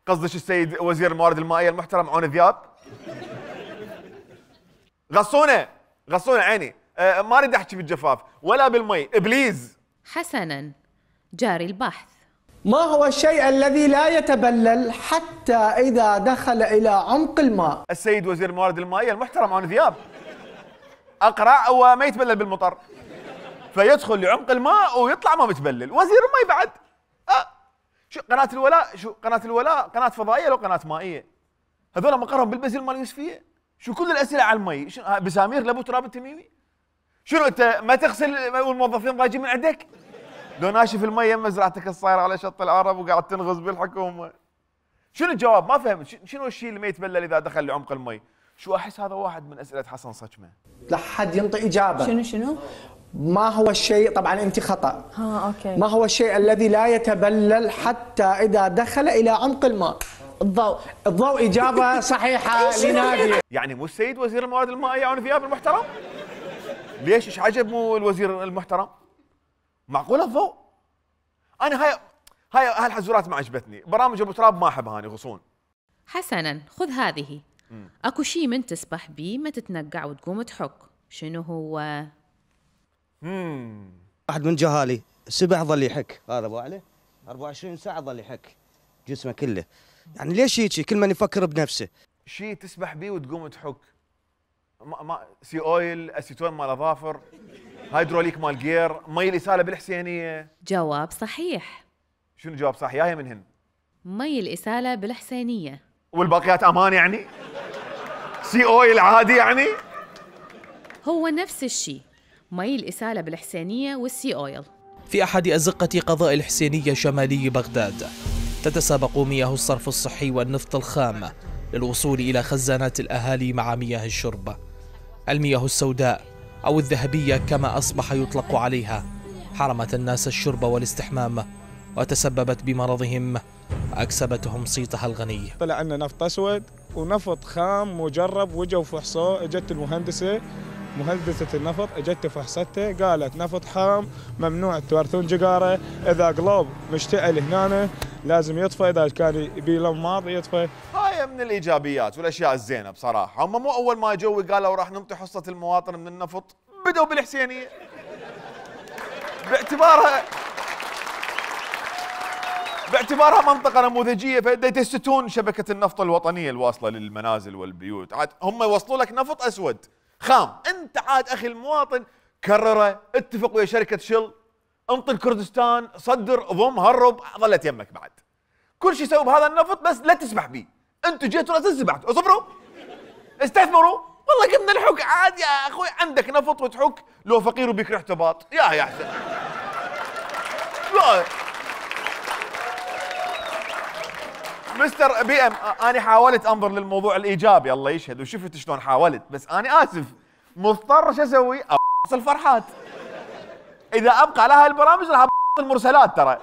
قصدك السيد وزير الموارد المائيه المحترم عون ذياب؟ غصونه عيني، ما اريد احكي بالجفاف ولا بالمي، بليز. حسنا، جاري البحث. ما هو الشيء الذي لا يتبلل حتى إذا دخل إلى عمق الماء؟ السيد وزير الموارد المائية المحترم عون ذياب. أقرع وما يتبلل بالمطر، فيدخل لعمق الماء ويطلع ما متبلل. وزير المي بعد. شو قناة الولاء؟ شو قناة الولاء؟ قناة فضائية لو قناة مائية؟ هذول مقرهم بالبزل مال يوسفية؟ شو كل الأسئلة على المي؟ شو بسامير لابو تراب التميمي؟ شنو أنت ما تغسل والموظفين ضايجين من عندك؟ لو ناشف المي يم مزرعتك الصايره على شط العرب وقاعد تنغز بالحكومه. شنو الجواب؟ ما فهمت. شنو الشيء اللي ما يتبلل اذا دخل لعمق المي؟ شو احس هذا واحد من اسئله حسن صجمه. لا حد ينطي اجابه. شنو؟ ما هو الشيء، طبعا انت خطا. اوكي. ما هو الشيء الذي لا يتبلل حتى اذا دخل الى عمق الماء؟ الضوء اجابه صحيحه لنادي. يعني مو السيد وزير الموارد المائيه عون ذياب المحترم؟ ليش ايش عجب مو الوزير المحترم؟ معقوله الضوء؟ انا هاي هالحزورات ما عجبتني، برامج ابو تراب ما احبها اني غصون. حسنا، خذ هذه. اكو شيء من تسبح بيه ما تتنقع وتقوم تحك، شنو هو؟ واحد من جهالي سبح ظل يحك، هذا ابو علي 24 ساعه ظل يحك جسمه كله، يعني ليش هيك كل من يفكر بنفسه؟ شيء تسبح بيه وتقوم تحك. ما سي اويل، اسيتون مال اظافر، هيدروليك مال جير، مي الاساله بالحسينيه. جواب صحيح. شنو جواب صح؟ ياهي منهن؟ مي الاساله بالحسينيه. والباقيات امان يعني؟ سي اويل عادي يعني؟ هو نفس الشيء، مي الاساله بالحسينيه والسي اويل. في احد ازقه قضاء الحسينيه شمالي بغداد تتسابق مياه الصرف الصحي والنفط الخام للوصول الى خزانات الاهالي مع مياه الشرب. المياه السوداء أو الذهبية كما أصبح يطلق عليها حرمت الناس الشرب والاستحمام وتسببت بمرضهم وأكسبتهم صيتها الغني. طلع عنا نفط أسود ونفط خام مجرب، وجوا فحصوه، اجت المهندسة مهندسة النفط اجت فحصته قالت نفط خام ممنوع تورثون جقاره، إذا قلوب مشتعل هنا لازم يطفى، إذا كان يبي لماض يطفى. هاي من الإيجابيات والأشياء الزينة بصراحة. هم مو أول ما جو قالوا راح ننطي حصة المواطن من النفط بدوا بالحسينية باعتبارها منطقة نموذجية، فيتستون شبكة النفط الوطنية الواصلة للمنازل والبيوت. عاد هم يوصلوا لك نفط أسود خام، أنت عاد أخي المواطن كرره، اتفق ويا شركة شل، انطي الكردستان، صدر، ضم، هرب، ظلت يمك بعد. كل شيء سووا بهذا النفط بس لا تسبح به. انتوا جيتوا لا تسبحوا، اصبروا استثمروا، والله قمنا الحك عاد يا اخوي، عندك نفط وتحك، لو فقير وبيك ريحته باط، يا احسن. لا مستر بي ام، انا حاولت انظر للموضوع الايجابي الله يشهد، وشفت شلون حاولت، بس انا اسف مضطر شو اسوي؟ الفرحات. اذا ابقى على هالبرامج راح المرسلات ترى.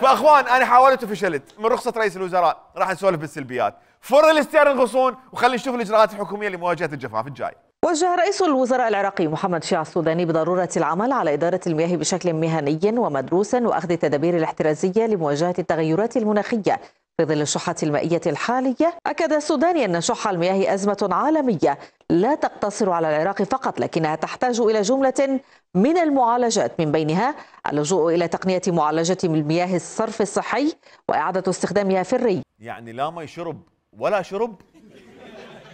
فاخوان انا حاولت وفشلت، من رخصه رئيس الوزراء راح نسولف بالسلبيات. فر الستيرن غصون وخلينا نشوف الاجراءات الحكوميه لمواجهه الجفاف الجاي. وجه رئيس الوزراء العراقي محمد شيع السوداني بضرورة العمل على إدارة المياه بشكل مهني ومدروس وأخذ التدابير الاحترازية لمواجهة التغيرات المناخية في ظل الشحة المائية الحالية. أكد السوداني أن شح المياه أزمة عالمية لا تقتصر على العراق فقط، لكنها تحتاج إلى جملة من المعالجات، من بينها اللجوء إلى تقنية معالجة المياه الصرف الصحي وإعادة استخدامها في الري. يعني لا مي شرب ولا شرب،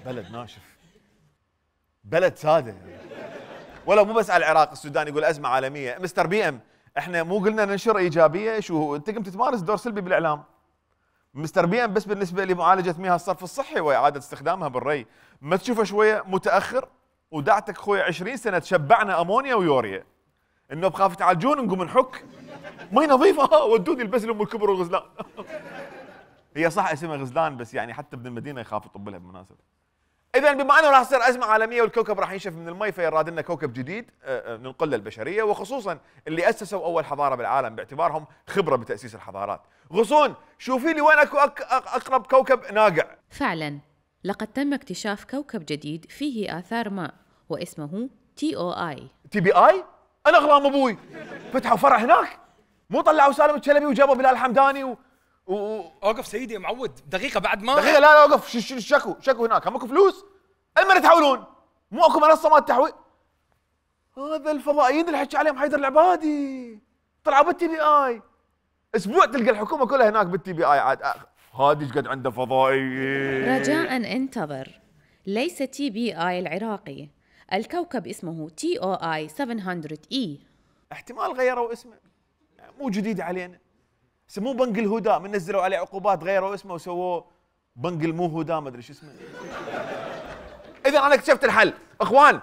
بلد ناشف، بلد ساده. ولا مو بس على العراق، السودان يقول ازمه عالميه. مستر بي ام، احنا مو قلنا ننشر ايجابيه؟ شو انت قمت تمارس دور سلبي بالاعلام. مستر بي ام بس بالنسبه لمعالجه مياه الصرف الصحي واعاده استخدامها بالري، ما تشوفه شويه متاخر؟ ودعتك اخوي 20 سنه تشبعنا امونيا ويوريا، انه بخاف تعالجون نقوم نحك مي نظيفه ودوني البس لام الكبر والغزلان. هي صح اسمها غزلان، بس يعني حتى ابن المدينه يخاف يطب لها بالمناسبه. اذا بما انه راح تصير ازمه عالميه والكوكب راح ينشف من المي، فيراد لنا كوكب جديد ننقله للبشريه، وخصوصا اللي اسسوا اول حضاره بالعالم باعتبارهم خبره بتاسيس الحضارات. غصون شوفي لي وين اكو اقرب كوكب ناقع. فعلا لقد تم اكتشاف كوكب جديد فيه آثار ماء واسمه TOI. TBI؟ انا اغرام ابوي فتحوا فرع هناك، مو طلعوا سالم الشلبي وجابوا بلال الحمداني اوقف سيدي يا معود دقيقه بعد ما دقيقه. لا اوقف. شكو هناك، هم اكو فلوس؟ المن تحولون، مو اكو منصه مال تحويل. هذا الفضائيين اللي حكي عليهم حيدر العبادي طلعوا بالتي بي اي. اسبوع تلقى الحكومه كلها هناك بالتي بي اي. عاد هذه ايش قد عنده فضائيين. رجاء انتظر، ليس TBI العراقي، الكوكب اسمه TOI 700E. احتمال غيروا اسمه، مو جديد علينا. سموه بنك الهدى، من نزلوا عليه عقوبات غيروا اسمه وسووه بنك المو هدى، ما ادري شو اسمه. اذا انا اكتشفت الحل. اخوان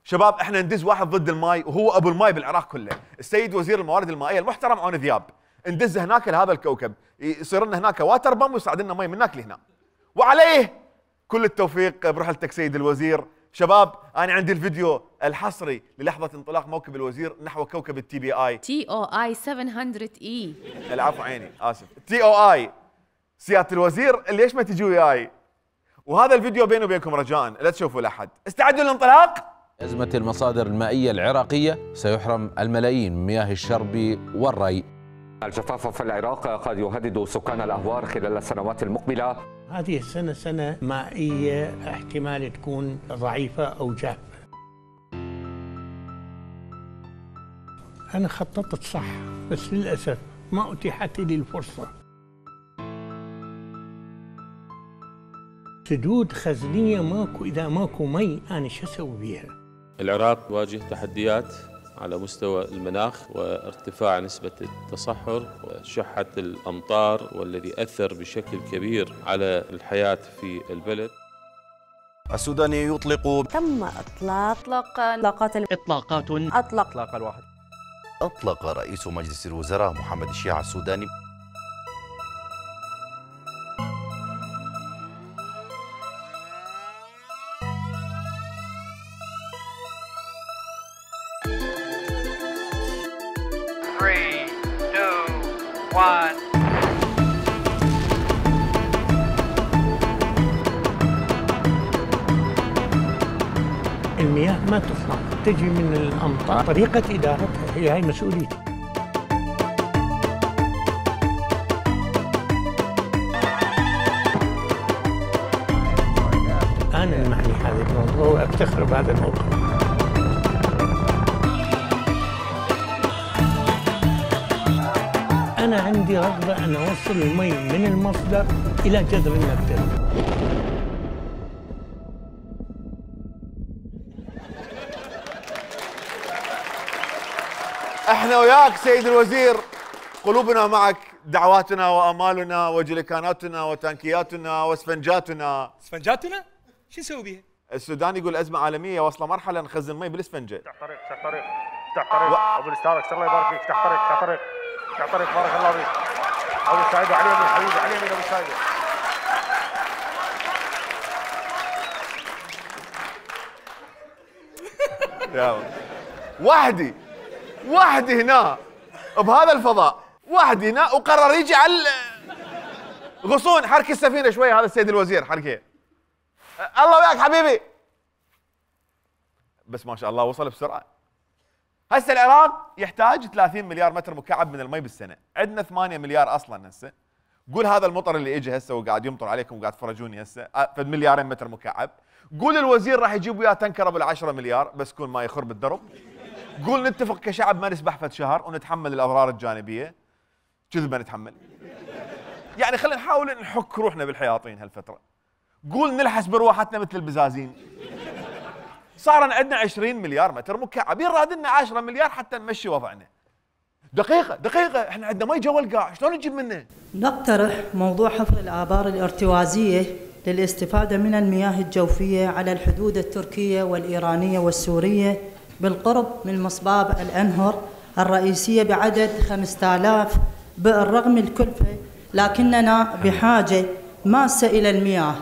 شباب، احنا ندز واحد ضد الماي وهو ابو الماي بالعراق كله، السيد وزير الموارد المائيه المحترم عون ذياب. ندز هناك لهذا الكوكب، يصير لنا هناك واتر بام ويصعد لنا مي من هناك لهنا. وعليه كل التوفيق برحلتك سيد الوزير. شباب انا عندي الفيديو الحصري للحظه انطلاق موكب الوزير نحو كوكب التي بي اي. TOI 700E. العفو عيني اسف. TOI سياده الوزير ليش ما تجوا وياي؟ وهذا الفيديو بيني وبينكم رجاء لا تشوفوا لاحد. استعدوا للانطلاق. أزمة المصادر المائية العراقية سيحرم الملايين من مياه الشرب والري. الجفاف في العراق قد يهدد سكان الأهوار خلال السنوات المقبلة. هذه السنة سنة مائية احتمال تكون ضعيفة أو جافة. أنا خططت صح بس للأسف ما أتيحت لي الفرصة. سدود خزنية ماكو، إذا ماكو مي أنا شو أسوي بيها؟ العراق تواجه تحديات على مستوى المناخ وارتفاع نسبة التصحر وشحة الأمطار، والذي أثر بشكل كبير على الحياة في البلد. السوداني يطلق. تم إطلاق إطلاقات الواحد. أطلق رئيس مجلس الوزراء محمد شيع السوداني المياه ما تطلع، تجي من الأمطار، طريقة إدارتها هي هاي مسؤوليتي. أنا المعني هذا الموضوع وأفتخر بهذا الموضوع. أنا عندي رغبة أن أوصل المي من المصدر إلى جذر النبتة. احنا وياك سيد الوزير، قلوبنا معك، دعواتنا وامالنا وجليكاناتنا وتانكياتنا واسفنجاتنا. اسفنجاتنا؟ شو نسوي بيها؟ السودان يقول ازمه عالميه واصله مرحله نخزن مي بالاسفنجه. افتح طريق افتح طريق افتح طريق ابو الاستاذ الله يبارك فيك. افتح طريق افتح طريق افتح طريق بارك الله فيك. ابو سعيد علي يمين حبيبي، علي يمين ابو سعيد. يا وحدي هنا بهذا الفضاء، وحدي هنا، وقرر يجي على غصون. حركي السفينه شويه هذا السيد الوزير، حركيه. الله وياك حبيبي. بس ما شاء الله وصل بسرعه. هسه العراق يحتاج 30 مليار متر مكعب من المي بالسنه، عندنا 8 مليار اصلا هسه. قول هذا المطر اللي اجى هسه وقاعد يمطر عليكم وقاعد تفرجوني هسه فد مليارين متر مكعب. قول الوزير راح يجيب وياه تنكره بال10 مليار بس كون ما يخرب الدرب. قول نتفق كشعب ما نسبح فد شهر ونتحمل الاضرار الجانبيه. كذبه نتحمل. يعني خلينا نحاول نحك روحنا بالحياطين هالفتره. قول نلحس برواحتنا مثل البزازين. صار عندنا 20 مليار متر مكعب، يراد لنا 10 مليار حتى نمشي وضعنا. دقيقة، احنا عندنا مي جوا القاع، شلون نجيب منه؟ نقترح موضوع حفر الآبار الارتوازية للاستفادة من المياه الجوفية على الحدود التركية والإيرانية والسورية بالقرب من مصباب الأنهر الرئيسية بعدد 5000 بالرغم من الكلفة، لكننا بحاجة ماسة إلى المياه.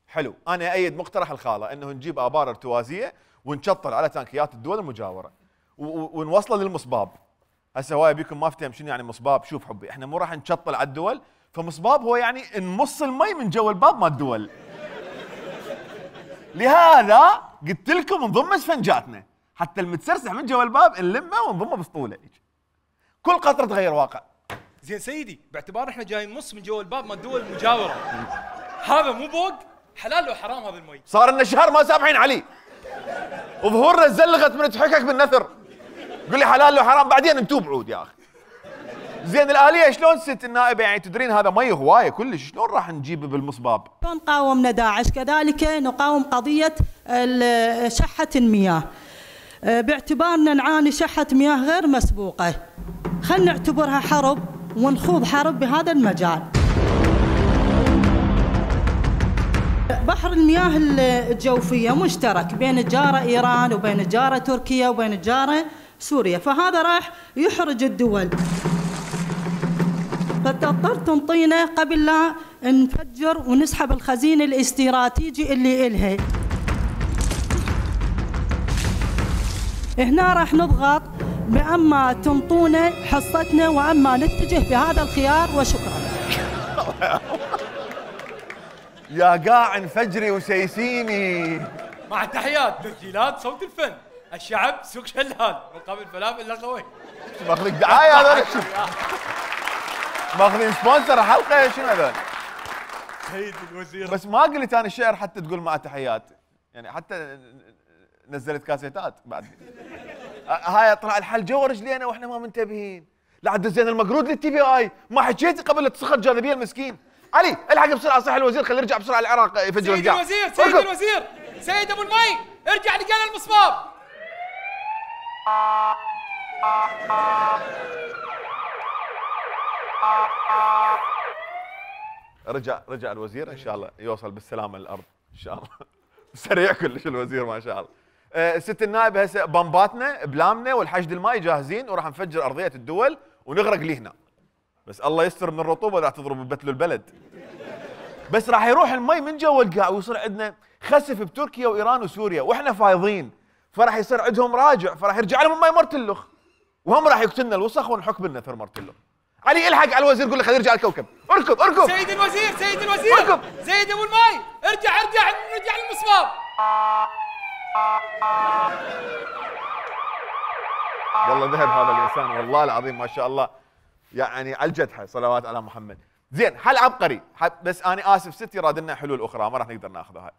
حلو، أنا أيد مقترح الخالة أنه نجيب آبار ارتوازية ونشطر على تانكيات الدول المجاورة ونوصله للمصباب. هسه هواي بيكم ما فتهم شنو يعني مصباب. شوف حبي، احنا مو راح نشطل على الدول، فمصباب هو يعني نمص المي من جوا الباب مال الدول. لهذا قلت لكم نضم اسفنجاتنا حتى المتسرسح من جوا الباب نلمه ونضمه بسطوله. كل قطره تغير واقع. زين سيدي، باعتبار احنا جايين نص من جوا الباب مال الدول المجاوره، هذا مو بوق؟ حلال لو حرام هذا المي؟ صار لنا شهر ما سامحين عليه، وظهورنا زلغت من تحكك بالنثر. قول لي حلال لو حرام بعدين نتوب عود يا اخي. زين الآلية شلون ست النائبة؟ يعني تدرين هذا مي هوايه كلش، شلون راح نجيبه بالمصباب؟ شلون قاومنا داعش كذلك نقاوم قضية شحة المياه، باعتبارنا نعاني شحة مياه غير مسبوقة. خلينا نعتبرها حرب ونخوض حرب بهذا المجال. بحر المياه الجوفية مشترك بين الجارة إيران وبين الجارة تركيا وبين الجارة سوريا، فهذا راح يحرج الدول، فتضطر تنطينا قبل لا نفجر ونسحب الخزين الاستراتيجي اللي إلها. هنا راح نضغط بأما تنطونا حصتنا وأما نتجه بهذا الخيار، وشكرا. يا قاع انفجري وسيسيني. مع تحيات تسجيلات صوت الفن، الشعب سوق شلال مقابل فلافل لقوي. ماخذك دعايه هذول؟ ماخذين سبونسر حلقه شنو هذول؟ سيد الوزير. بس ما قلت انا الشعر حتى تقول مع تحيات، يعني حتى نزلت كاسيتات بعد. هاي طلع الحل جوا رجلينا واحنا ما منتبهين. لا دزينا المقرود للتي في اي، ما حكيتي قبل لا تسخط جاذبيه المسكين. علي الحق بسرعه، صح الوزير خليه يرجع بسرعه العراق يفجر القاع. سيد الوزير سيد ابو المي، ارجع لقانا المصباب. رجع الوزير ان شاء الله يوصل بالسلامه للارض ان شاء الله. سريع كلش الوزير ما شاء الله. ست النائب هسه بامباتنا بلامنا والحشد المائي جاهزين وراح نفجر ارضيه الدول ونغرق لي هنا. بس الله يستر من الرطوبه راح تضرب ببتلو البلد. بس راح يروح المي من جوا القاع ويصير عندنا خسف بتركيا وايران وسوريا واحنا فايضين، فراح يصير عندهم راجع، فراح يرجع لهم المي مرتلخ وهم راح يقتلنا الوسخ ونحك بالنثر مرتلخ. علي الحق على الوزير قول له خليه يرجع الكوكب. اركض سيد الوزير اركض. سيد ابو المي ارجع للمصباب. والله ذهب هذا الانسان والله العظيم ما شاء الله، يعني على الجدحه صلوات على محمد. زين حل عبقري، بس انا اسف ستي راد لنا حلول اخرى ما راح نقدر ناخذها.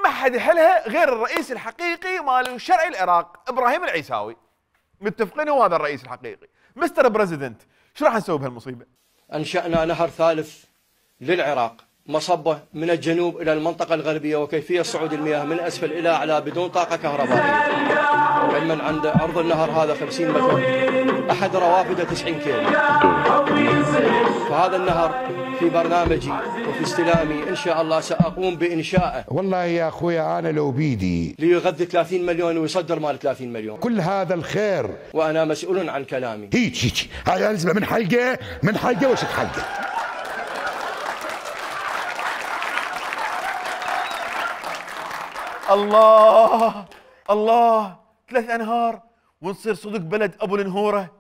ما حد يحلها غير الرئيس الحقيقي مال الشرعي العراق ابراهيم العيساوي. متفقين هو هذا الرئيس الحقيقي. مستر بريزيدنت شو راح نسوي بهالمصيبه؟ انشانا نهر ثالث للعراق، مصبه من الجنوب الى المنطقه الغربيه، وكيفيه صعود المياه من اسفل الى اعلى بدون طاقه كهربائيه. علما عند عرض النهر هذا 50 متر، احد روافده 90 كيلو. فهذا النهر في برنامجي وفي استلامي إن شاء الله سأقوم بإنشائه. والله يا أخويا أنا لو بيدي ليغذي 30 مليون ويصدر مال 30 مليون. كل هذا الخير وأنا مسؤول عن كلامي. هيك هاي أنزله من حلقة وشت حلقة. الله الله 3 أنهار ونصير صدق بلد ابو النهوره.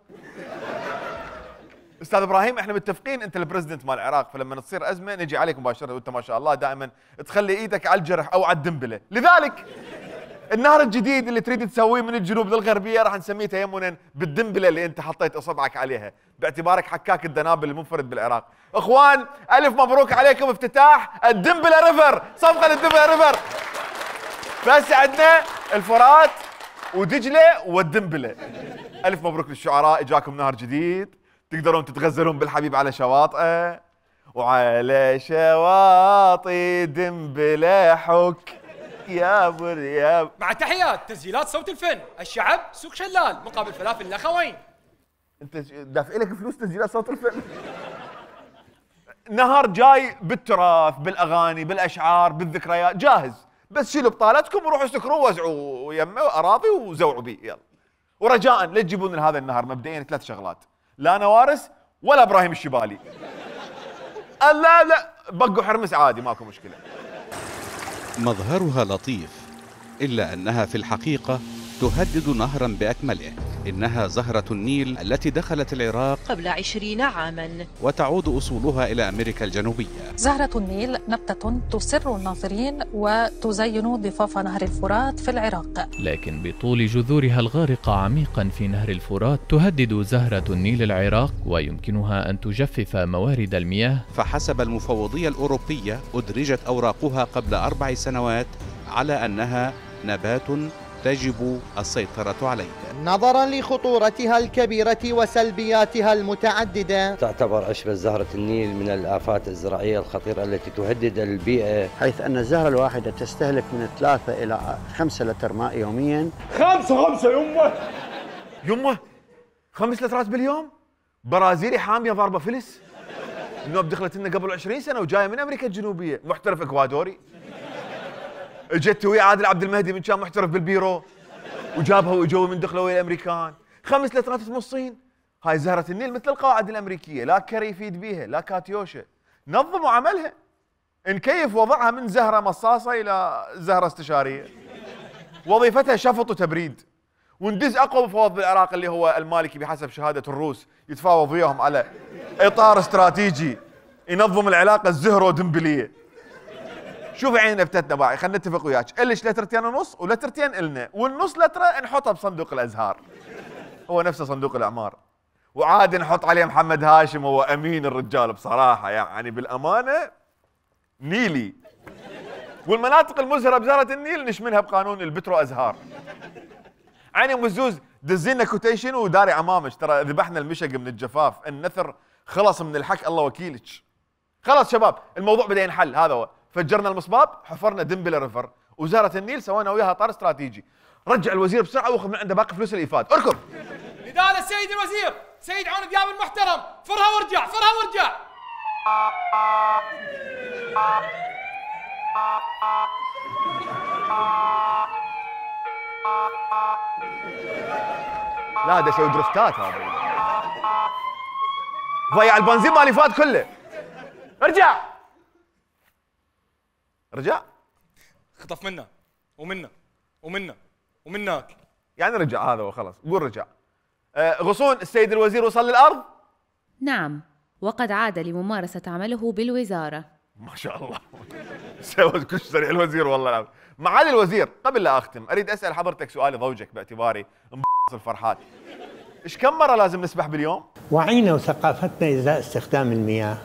استاذ ابراهيم احنا متفقين انت البريزدنت مال العراق، فلما تصير ازمه نجي عليك مباشره وانت ما شاء الله دائما تخلي ايدك على الجرح او على الدنبله، لذلك النهر الجديد اللي تريد تسويه من الجنوب للغربيه راح نسميه تيمنا بالدنبله اللي انت حطيت اصبعك عليها باعتبارك حكاك الدنابل المنفرد بالعراق. اخوان الف مبروك عليكم افتتاح الدنبله ريفر، صفقه للدنبله ريفر. بس عندنا الفرات ودجله والدنبله. الف مبروك للشعراء، اجاكم نهر جديد تقدرون تتغزلون بالحبيب على شواطئه، وعلى شواطئ دنبله حك يا مريم. مع تحيات تسجيلات صوت الفن، الشعب سوق شلال مقابل فلافل الاخوين. انت دافع لك فلوس تسجيلات صوت الفن؟ نهر جاي بالتراث بالاغاني بالاشعار بالذكريات جاهز، بس شيلوا بطالتكم وروحوا سكروا ووزعوا يمه اراضي وزوعوا بيه يلا. ورجاء لا تجيبون لهذا النهر مبدئيا 3 شغلات، لا نوارس ولا ابراهيم الشبالي. لا بقوا حرمس عادي ماكو مشكله. مظهرها لطيف إلا أنها في الحقيقة تهدد نهرا بأكمله. إنها زهرة النيل التي دخلت العراق قبل 20 عاما وتعود أصولها إلى أمريكا الجنوبية. زهرة النيل نبتة تسر الناظرين وتزين ضفاف نهر الفرات في العراق، لكن بطول جذورها الغارقة عميقا في نهر الفرات تهدد زهرة النيل العراق ويمكنها أن تجفف موارد المياه. فحسب المفوضية الأوروبية أدرجت أوراقها قبل 4 سنوات على أنها نبات تجب السيطرة عليه. نظرا لخطورتها الكبيرة وسلبياتها المتعددة، تعتبر عشبة زهرة النيل من الآفات الزراعية الخطيرة التي تهدد البيئة، حيث أن الزهرة الواحدة تستهلك من 3 إلى 5 لتر ماء يوميا. 5 يمه 5 لترات باليوم. برازيلي حامية ضاربة فلس، النوب دخلت لنا قبل 20 سنة وجاية من أمريكا الجنوبية، محترف إكوادوري. اجت ويا عادل عبد المهدي من كان محترف بالبيرو وجابها واجوا من دخلوا ويا الامريكان. 5 لترات تمصين. هاي زهرة النيل مثل القواعد الامريكيه، لا كري يفيد بيها لا كاتيوشا. نظموا عملها، نكيف وضعها من زهره مصاصه الى زهره استشاريه. وظيفتها شفط وتبريد. وندز اقوى مفوض بالعراق اللي هو المالكي بحسب شهاده الروس، يتفاوض وياهم على اطار استراتيجي ينظم العلاقه الزهرو دنبليه. شوف عيننا فتتنا باعي، خلينا نتفق وياك، الش لترتين ونص ولترتين النا، والنص لتره نحطها بصندوق الازهار. هو نفسه صندوق الاعمار. وعاد نحط عليه محمد هاشم، هو امين الرجال بصراحه، يعني بالامانه نيلي. والمناطق المزهره بزهره النيل نشملها بقانون البترو ازهار. عيني ام الزوز دزينا كوتيشن وداري عمامش، ترى ذبحنا المشق من الجفاف، النثر خلص من الحك الله وكيلك. خلاص شباب الموضوع بدا ينحل، هذا هو. فجرنا المصباب، حفرنا دنبله ريفر، وزاره النيل سوينا وياها اطار استراتيجي. رجع الوزير بسرعه واخذ من عنده باقي فلوس الايفاد، اركض. نداء للسيد الوزير، سيد عون دياب المحترم، فرها وارجع فرها وارجع. لا ده يسوي درفتات هذا. ضيع البنزين مال الايفاد كله. ارجع. رجع؟ خطف منا ومنا ومنا ومناك. يعني رجع هذا وخلاص، قول رجع. غصون السيد الوزير وصل للأرض؟ نعم، وقد عاد لممارسة عمله بالوزارة. ما شاء الله. سوى كل سريع الوزير والله العظيم. معالي الوزير، قبل لا أختم أريد أسأل حضرتك سؤالي ضوجك باعتباري الفرحات. إيش كم مرة لازم نسبح باليوم؟ وعينا وثقافتنا إزاء استخدام المياه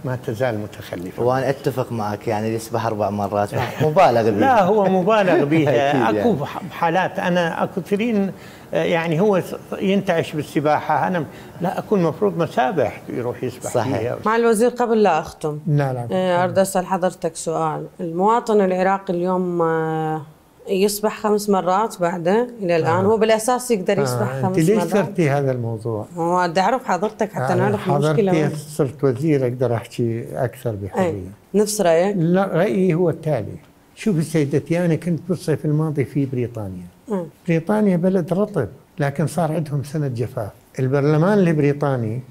ما تزال متخلفة. وانا اتفق معك، يعني يسبح 4 مرات مبالغ بها. لا هو مبالغ بها. اكو حالات انا اكو كثيرين يعني هو ينتعش بالسباحه، انا لا اكون المفروض مسابح يروح يسبح صحيح. فيها. مع الوزير قبل لا اختم، لا اريد اسال حضرتك سؤال. المواطن العراقي اليوم يسبح 5 مرات بعده الى الان. هو بالاساس يقدر يسبح 5 مرات. انت ليش صرتي هذا الموضوع؟ هو بدي اعرف حضرتك حتى نعرف المشكله. حضرتي صرت وزير اقدر احكي اكثر بحريه. نفس رايك؟ لا، رايي هو التالي. شوفي سيدتي، انا كنت بالصيف الماضي في بريطانيا. بريطانيا بلد رطب لكن صار عندهم سنه جفاف. البرلمان البريطاني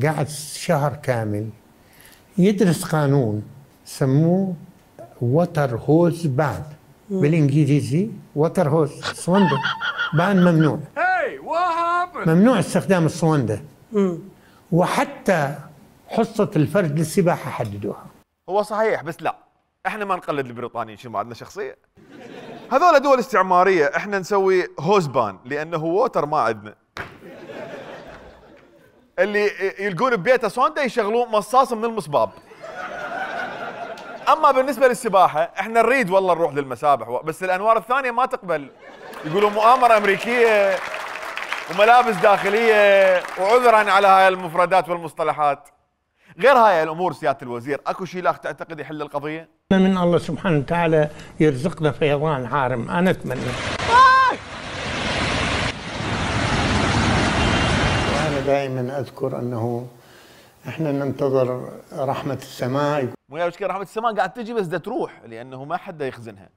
قعد شهر كامل يدرس قانون سموه ووتر هوز بان، بالانجليزي ووتر هوز صوندة بان ممنوع. ممنوع استخدام الصوندة. وحتى حصة الفرد للسباحة حددوها. هو صحيح، بس لا، احنا ما نقلد البريطانيين، شو ما عندنا شخصية؟ هذول دول استعمارية، احنا نسوي هوز بان لانه ووتر ما عندنا. اللي يلقون ببيته صوندة يشغلون مصاص من المصباب. اما بالنسبه للسباحه احنا نريد والله نروح للمسابح، بس الانوار الثانيه ما تقبل، يقولوا مؤامره امريكيه وملابس داخليه، وعذرا على هاي المفردات والمصطلحات. غير هاي الامور سياده الوزير، اكو شيء لا تعتقد يحل القضيه؟ من الله سبحانه وتعالى يرزقنا فيضان عارم، انا اتمنى. وانا دائما اذكر انه احنا ننتظر رحمه السماء. ويا مشكلة رحمة السماء قاعد تجي بس تروح، لأنه ما حدا يخزنها.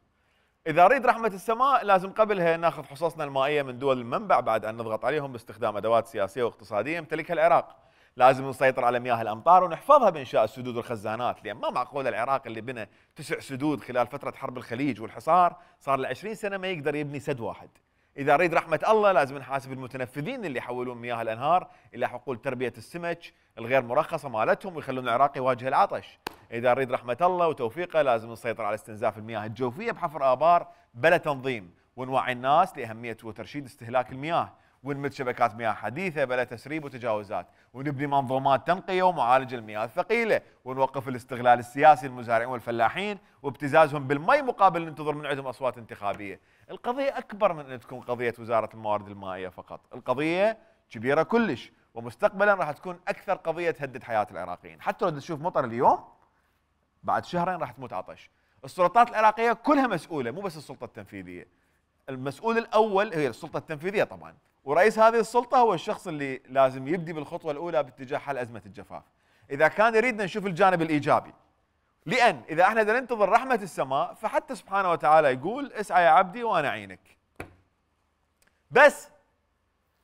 إذا أريد رحمة السماء لازم قبلها ناخذ حصصنا المائية من دول المنبع، بعد أن نضغط عليهم باستخدام أدوات سياسية واقتصادية يمتلكها العراق. لازم نسيطر على مياه الأمطار ونحفظها بإنشاء السدود والخزانات، لأن ما معقول العراق اللي بنى 9 سدود خلال فترة حرب الخليج والحصار صار له 20 سنة ما يقدر يبني سد واحد. إذا أريد رحمة الله لازم نحاسب المتنفذين اللي يحولون مياه الأنهار إلى حقول تربية السمك الغير مرخصة مالتهم ويخلون العراق يواجه العطش. إذا أريد رحمة الله وتوفيقه لازم نسيطر على استنزاف المياه الجوفية بحفر آبار بلا تنظيم، ونوعي الناس لأهمية وترشيد استهلاك المياه، ونمد شبكات مياه حديثة بلا تسريب وتجاوزات، ونبني منظومات تنقية ومعالجة المياه الثقيلة، ونوقف الاستغلال السياسي للمزارعين والفلاحين وابتزازهم بالمي مقابل ننتظر من عندهم أصوات انتخابية. القضية أكبر من أن تكون قضية وزارة الموارد المائية فقط، القضية كبيرة كلش، ومستقبلا راح تكون أكثر قضية تهدد حياة العراقيين. حتى لو تشوف مطر اليوم بعد شهرين راح تموت عطش. السلطات العراقية كلها مسؤولة، مو بس السلطة التنفيذية. المسؤول الأول هي السلطة التنفيذية طبعا، ورئيس هذه السلطة هو الشخص اللي لازم يبدي بالخطوة الأولى باتجاه حل أزمة الجفاف. إذا كان يريدنا نشوف الجانب الإيجابي، لأن إذا احنا بدنا ننتظر رحمة السماء فحتى سبحانه وتعالى يقول اسعى يا عبدي وأنا أعينك. بس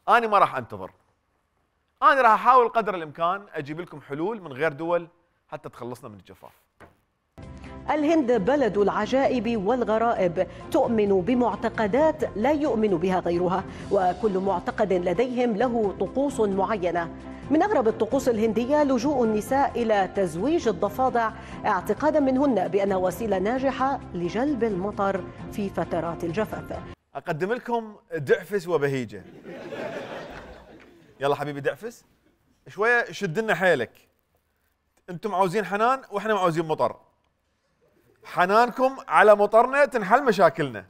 أنا ما راح أنتظر، أنا راح أحاول قدر الإمكان أجيب لكم حلول من غير دول حتى تخلصنا من الجفاف. الهند بلد العجائب والغرائب، تؤمن بمعتقدات لا يؤمن بها غيرها، وكل معتقد لديهم له طقوس معينة. من أغرب الطقوس الهندية لجوء النساء إلى تزويج الضفادع، اعتقادا منهن بأنها وسيلة ناجحة لجلب المطر في فترات الجفاف. أقدم لكم دعفس وبهيجة. يلا حبيبي دعفس، شوية شد لنا حيلك. أنتم عاوزين حنان وإحنا عاوزين مطر. حنانكم على مطرنا تنحل مشاكلنا.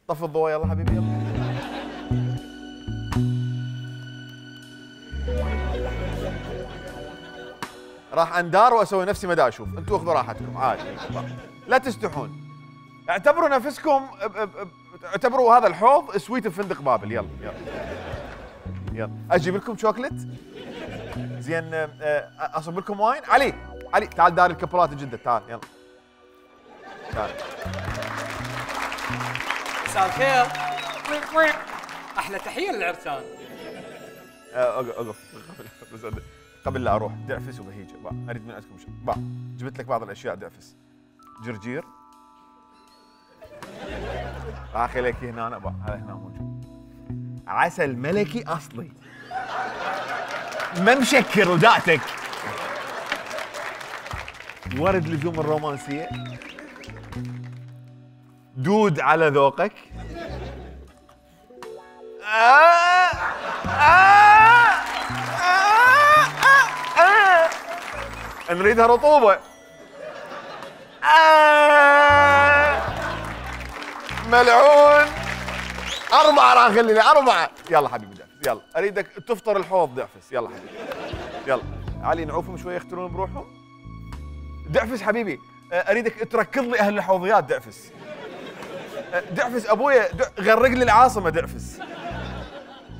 طفي الضوء يلا حبيبي يلا. راح اندار واسوي نفسي ما دا اشوف، انتم اخذوا راحتكم عادي، لا تستحون. اعتبروا نفسكم اعتبروا هذا الحوض سويت بفندق بابل. يلا يلا يلا اجيب لكم شوكليت زين، اصب لكم واين. علي علي تعال دار الكبرات جدة، تعال يلا تعال. مساء الخير. احلى تحيه للعرسان. اقف قبل لا اروح. دعفس وبهيجه اريد من عندكم شيء. جبت لك بعض الاشياء. دعفس، جرجير، اخي لك هنا هذا هنا موجود. عسل ملكي اصلي ما مشكر ودعتك. ورد لزوم الرومانسيه، دود على ذوقك. نريدها رطوبة. ملعون. 4 راح خليني 4. يلا حبيبي دعفس يلا، اريدك تفطر الحوض دعفس. يلا حبيبي يلا. علي نعوفهم شوي يختلون بروحهم. دعفس حبيبي اريدك تركض لي اهل الحوضيات. دعفس دعفس ابويا غرق لي العاصمه دعفس.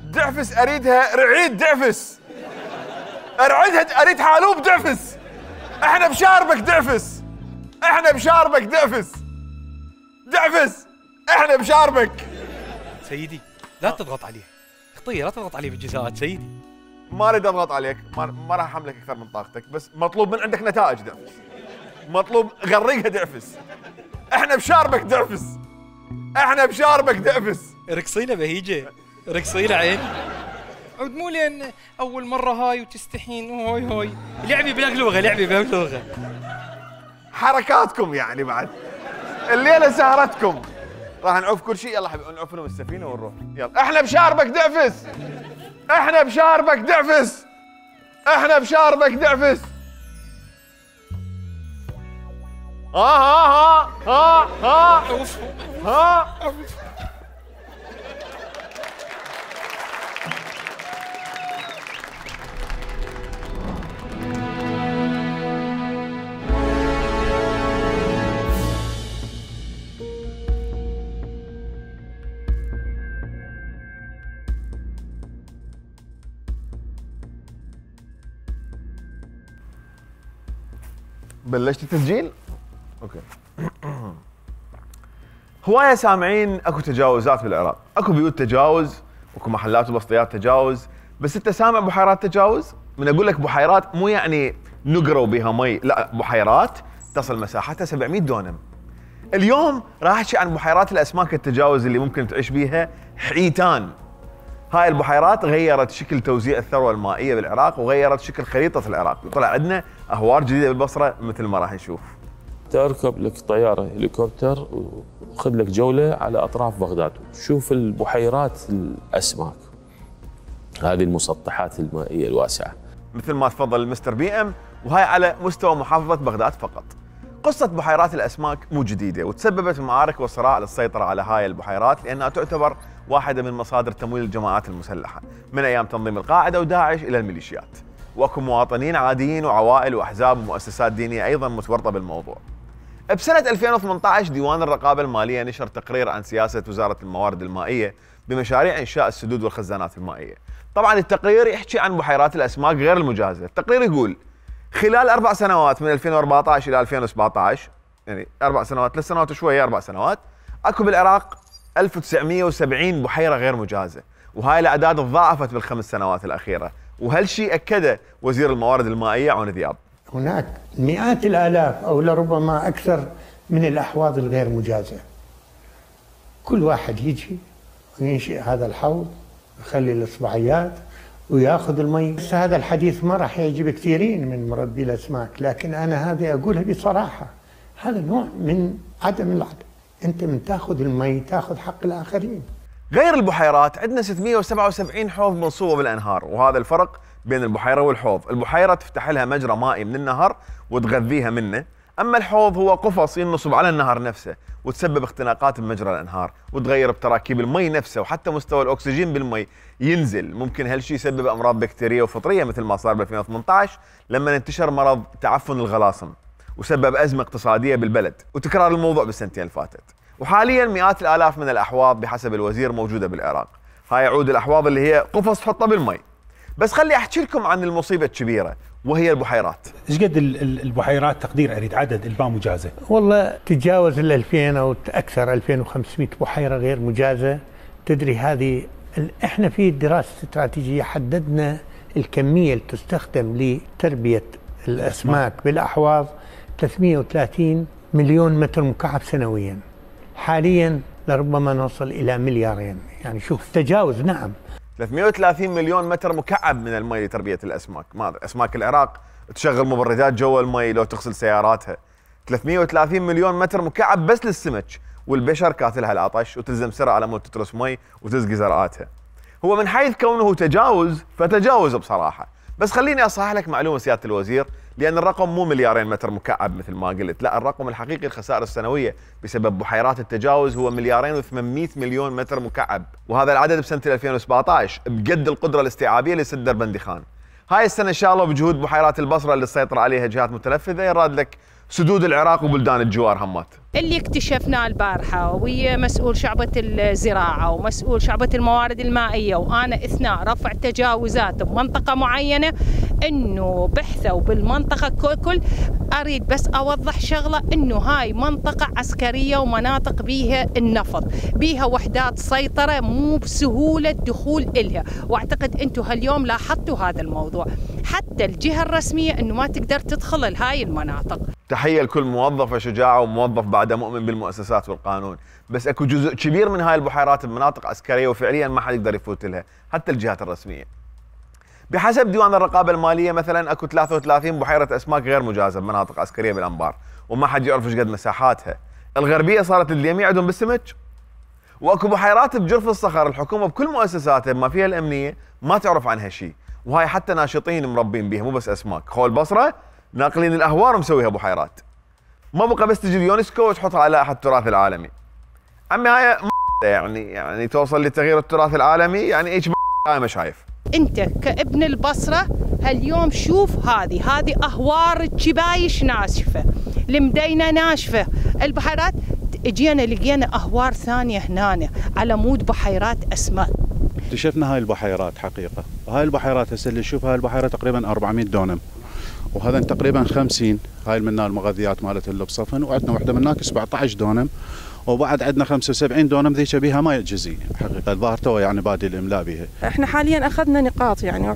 دعفس اريدها رعيد دعفس. ارعدها اريد حالوب دعفس. احنا بشاربك دعفس. احنا بشاربك دعفس. دعفس احنا بشاربك. سيدي لا تضغط عليه. خطيه لا تضغط عليه بالجزاءات سيدي. ما اريد اضغط عليك، ما راح احملك اكثر من طاقتك، بس مطلوب من عندك نتائج دعفس. مطلوب غرقها دعفس. احنا بشاربك دعفس. احنا بشاربك دعفس. رقصينا بهيجه، رقصينا عين. عود مو لين اول مره هاي وتستحين هوي هوي. لعبي بلغلوغه، لعبي بلغلوغه. حركاتكم يعني بعد. الليله سهرتكم. راح نعوف كل شيء. يلا حبيبي نعوف لهم السفينه ونروح. يلا احنا بشاربك دعفس. احنا بشاربك دعفس. احنا بشاربك دعفس. ها ها ها ها ها. بلشت التسجيل؟ اوكي. هوايه سامعين اكو تجاوزات بالعراق، اكو بيوت تجاوز، اكو محلات وبسطيات تجاوز، بس انت سامع بحيرات تجاوز؟ من اقول لك بحيرات مو يعني نقروا بها مي، لا بحيرات تصل مساحتها 700 دونم. اليوم راح احكي عن بحيرات الاسماك التجاوز اللي ممكن تعيش بيها حيتان. هاي البحيرات غيرت شكل توزيع الثروه المائيه بالعراق وغيرت شكل خريطه العراق، وطلع عندنا اهوار جديده بالبصره مثل ما راح نشوف. تركب لك طياره هليكوبتر وخذ لك جوله على اطراف بغداد، شوف البحيرات الاسماك، هذه المسطحات المائيه الواسعه. مثل ما تفضل المستر بي ام، وهاي على مستوى محافظه بغداد فقط. قصه بحيرات الاسماك مو جديده، وتسببت معارك وصراع للسيطره على هاي البحيرات لانها تعتبر واحده من مصادر تمويل الجماعات المسلحه من ايام تنظيم القاعده وداعش الى الميليشيات. واكو مواطنين عاديين وعوائل واحزاب ومؤسسات دينيه ايضا متورطه بالموضوع. بسنه 2018 ديوان الرقابه الماليه نشر تقرير عن سياسه وزاره الموارد المائيه بمشاريع انشاء السدود والخزانات المائيه. طبعا التقرير يحكي عن بحيرات الاسماك غير المجازه، التقرير يقول خلال 4 سنوات من 2014 الى 2017 يعني 4 سنوات 3 سنوات وشويه 4 سنوات اكو بالعراق 1970 بحيره غير مجازه، وهاي الاعداد تضاعفت بالخمس سنوات الاخيره، وهالشيء اكده وزير الموارد المائيه عون ذياب. هناك مئات الالاف او لربما اكثر من الاحواض الغير مجازه. كل واحد يجي وينشئ هذا الحوض يخلي الاصبعيات وياخذ المي. بس هذا الحديث ما راح يعجب كثيرين من مربي الاسماك، لكن انا هذه اقولها بصراحه، هذا نوع من عدم العدل. انت من تاخذ المي تاخذ حق الاخرين. غير البحيرات عندنا 677 حوض منصوبه بالانهار، وهذا الفرق بين البحيره والحوض. البحيره تفتح لها مجرى مائي من النهر وتغذيها منه، اما الحوض هو قفص ينصب على النهر نفسه وتسبب اختناقات بمجرى الانهار وتغير بتراكيب المي نفسه، وحتى مستوى الاكسجين بالمي ينزل. ممكن هالشيء يسبب امراض بكتيريه وفطريه مثل ما صار ب 2018 لما انتشر مرض تعفن الغلاصم وسبب ازمه اقتصاديه بالبلد، وتكرار الموضوع بالسنتين اللي فاتت. وحاليا مئات الالاف من الاحواض بحسب الوزير موجوده بالعراق. هاي عود الاحواض اللي هي قفص تحطها بالمي. بس خلي احكي لكم عن المصيبه الكبيره وهي البحيرات. ايش قد البحيرات تقدير اريد عدد البا مجازه؟ والله تتجاوز ال 2000 او اكثر، 2500 بحيره غير مجازه. تدري هذه احنا في دراسه استراتيجيه حددنا الكميه اللي تستخدم لتربيه الاسماك بالاحواض 330 مليون متر مكعب سنويا. حاليا لربما نوصل الى مليارين، يعني شوف تجاوز. نعم 330 مليون متر مكعب من المي لتربيه الاسماك. ما اسماك العراق تشغل مبردات جوا المي لو تغسل سياراتها. 330 مليون متر مكعب بس للسمك، والبشر كاتلها العطش وتلزم سرعه على مود تترس مي وتسقي زرعاتها. هو من حيث كونه تجاوز فتجاوز بصراحه، بس خليني اصحح لك معلومه سياده الوزير، لان الرقم مو مليارين متر مكعب مثل ما قلت، لا الرقم الحقيقي الخسائر السنويه بسبب بحيرات التجاوز هو 2.8 مليار متر مكعب، وهذا العدد بسنه 2017 بقد القدره الاستيعابيه لسد دربندي خان. هاي السنه ان شاء الله بجهود بحيرات البصره اللي تسيطر عليها جهات متنفذه يراد لك سدود العراق وبلدان الجوار همات. اللي اكتشفناه البارحة ويا مسؤول شعبة الزراعة ومسؤول شعبة الموارد المائية وأنا أثناء رفع تجاوزات بمنطقة معينة إنه بحثوا بالمنطقة كل أريد بس أوضح شغلة إنه هاي منطقة عسكرية ومناطق بيها النفط بيها وحدات سيطرة مو بسهولة الدخول إلها، وأعتقد أنتم هاليوم لاحظتوا هذا الموضوع حتى الجهة الرسمية إنه ما تقدر تدخل لهاي المناطق. تحية لكل موظفة شجاعة وموظف بعده مؤمن بالمؤسسات والقانون، بس اكو جزء كبير من هاي البحيرات بمناطق عسكرية وفعليا ما حد يقدر يفوت لها حتى الجهات الرسمية. بحسب ديوان الرقابة المالية مثلا اكو 33 بحيرة اسماك غير مجازة بمناطق عسكرية بالانبار وما حد يعرف ايش قد مساحاتها. الغربية صارت اليميع عندهم بالسمك. واكو بحيرات بجرف الصخر الحكومة بكل مؤسساتها بما فيها الامنية ما تعرف عنها شيء، وهاي حتى ناشطين مربين بيها مو بس اسماك. خول البصرة ناقلين الاهوار ومسويها بحيرات. ما بقى بس تجي اليونسكو وتحطها على لائحة التراث العالمي. عمي هاي يعني توصل لتغيير التراث العالمي يعني ايش ما شايف. انت كابن البصرة هاليوم شوف هذه اهوار الجبايش ناشفة، المدينة ناشفة، البحيرات اجينا لقينا اهوار ثانية هنا على مود بحيرات اسماك. اكتشفنا هاي البحيرات حقيقة، وهاي البحيرات هسه اللي نشوف هاي البحيرة تقريبا 400 دونم، وهذا تقريبا 50 هاي منها المغذيات مالت اللي بصفن، وعندنا وحده من هناك 17 دونم، وبعد عندنا 75 دونم ذيك بيها ماء جزئي حقيقه الظاهر تو يعني بادي الاملاء بها. احنا حاليا اخذنا نقاط يعني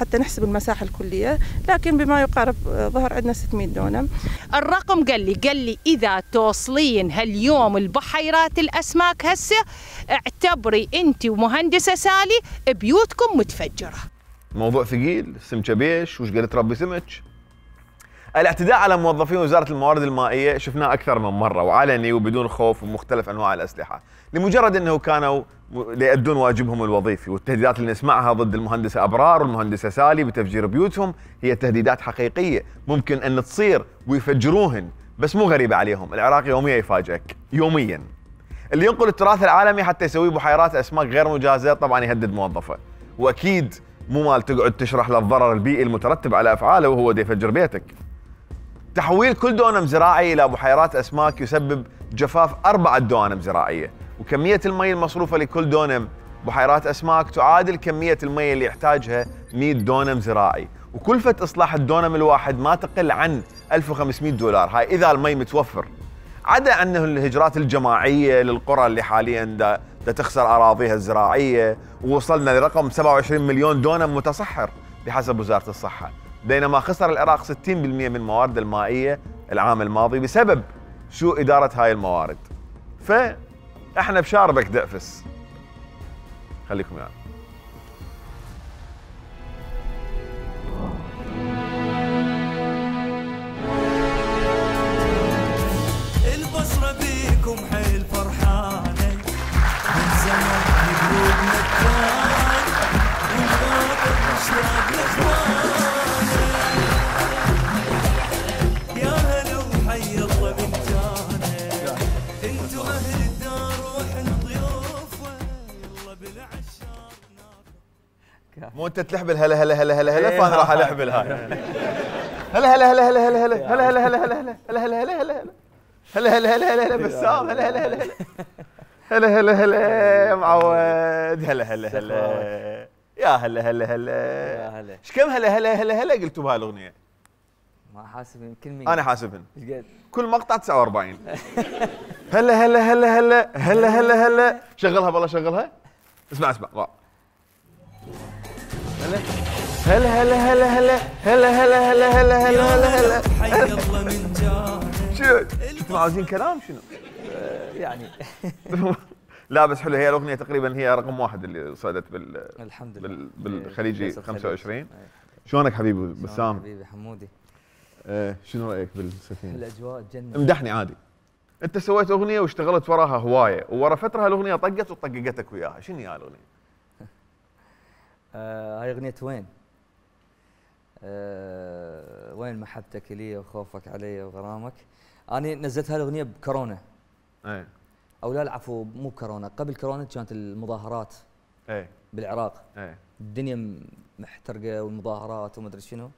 حتى نحسب المساحه الكليه، لكن بما يقارب ظهر عندنا 600 دونم. الرقم قال لي اذا توصلين هاليوم البحيرات الاسماك هسه اعتبري انت ومهندسه سالي بيوتكم متفجره. موضوع ثقيل، سمكه بيش وش قد تربي سمك. الاعتداء على موظفين وزارة الموارد المائية شفناه أكثر من مرة وعلني وبدون خوف ومختلف أنواع الأسلحة، لمجرد أنه كانوا يؤدون واجبهم الوظيفي. والتهديدات اللي نسمعها ضد المهندسة أبرار والمهندسة سالي بتفجير بيوتهم هي تهديدات حقيقية ممكن أن تصير ويفجروهن، بس مو غريبة عليهم. العراق يوميا يفاجئك، يوميا. اللي ينقل التراث العالمي حتى يسوي بحيرات أسماك غير مجازة طبعا يهدد موظفه، وأكيد مو مال تقعد تشرح له الضرر البيئي المترتب على أفعاله وهو دا يفجر بيتك. تحويل كل دونم زراعي إلى بحيرات أسماك يسبب جفاف 4 دوانم زراعية، وكمية المي المصروفة لكل دونم بحيرات أسماك تعادل كمية المي اللي يحتاجها 100 دونم زراعي، وكلفة إصلاح الدونم الواحد ما تقل عن 1500 دولار. هاي إذا المي متوفر، عدا أنه الهجرات الجماعية للقرى اللي حاليا دا تخسر أراضيها الزراعية، ووصلنا لرقم 27 مليون دونم متصحر بحسب وزارة الصحة، بينما خسر العراق 60% من موارده المائية العام الماضي بسبب سوء إدارة هاي الموارد. فإحنا بشاربك دأفس. خليكم يعني. البصرة بيكم حيل فرحانة من زمان قلوبنا الثاني والخاطر مشتاق لإخوانه. يا هلا وحي الله من جانا، انتو اهل الدار واحنا ضيوفه، يلا بالعشاق ناخذ. مو انت تلحبل هلا هلا هلا هلا هلا، فانا راح الحبل هاي. هلا هلا هلا هلا هلا هلا هلا هلا هلا هلا هلا هلا هلا هلا هلا هلا هلا هلا بسام، هلا هلا هلا هلا هلا هلا يا معود، هلا هلا هلا يا هلا هلا هلا يا هلا. ايش كم هلا هلا هلا هلا قلتوا بهاي الاغنيه؟ ما حاسبين كل مين؟ انا حاسبهن. ايش قد؟ كل مقطع 49. هلا هلا هلا هلا هلا هلا هلا. شغلها بالله شغلها. اسمع اسمع. هلا هلا هلا هلا هلا هلا هلا هلا هلا هلا هلا هلا. حي الله من جانا. شو انتم عاوزين كلام شنو؟ يعني لا بس حلو، هي الاغنيه تقريبا هي رقم 1 اللي صعدت الحمد لله بالخليجي 25. شلونك حبيبي بسام؟ حبيبي حمودي. شنو رايك بالسفينه؟ الاجواء تجنن. امدحني عادي. انت سويت اغنيه واشتغلت وراها هوايه، وورا فتره الاغنيه طقت وطققتك وياها، شنو هي الاغنيه؟ هاي اغنيه وين؟ وين محبتك لي وخوفك علي وغرامك. انا نزلت هاي الاغنيه بكورونا. او لا العفو مو كورونا، قبل كورونا كانت المظاهرات بالعراق. الدنيا محترقه والمظاهرات وما ادري شنو.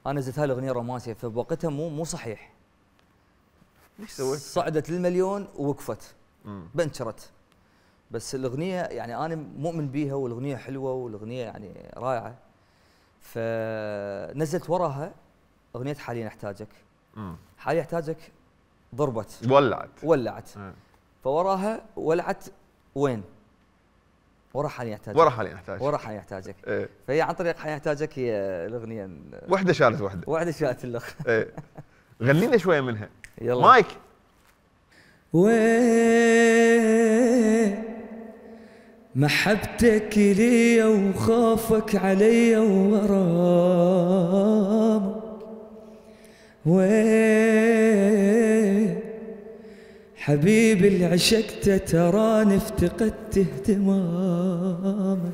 انا نزلت هاي الاغنيه رومانسيه، فبوقتها مو صحيح. ايش سويت؟ صعدت للمليون ووقفت بنشرت. بس الاغنيه يعني انا مؤمن بيها والاغنيه حلوه والاغنيه يعني رائعه. فنزلت وراها اغنيه حاليا احتاجك. حاليا احتاجك ضربت ولعت. فوراها ولعت وين؟ ورا حاليا احتاجك. ورا حاليا احتاجك. ورا حاليا احتاجك. ايه. فهي عن طريق حاليا احتاجك هي الاغنيه وحده شالت وحده. وحده شالت الاخ. ايه. غني لنا شويه منها. يلا مايك. محبتك لي وخوفك علي وغرامك حبيبي اللي عشقته تراني افتقدت اهتمامك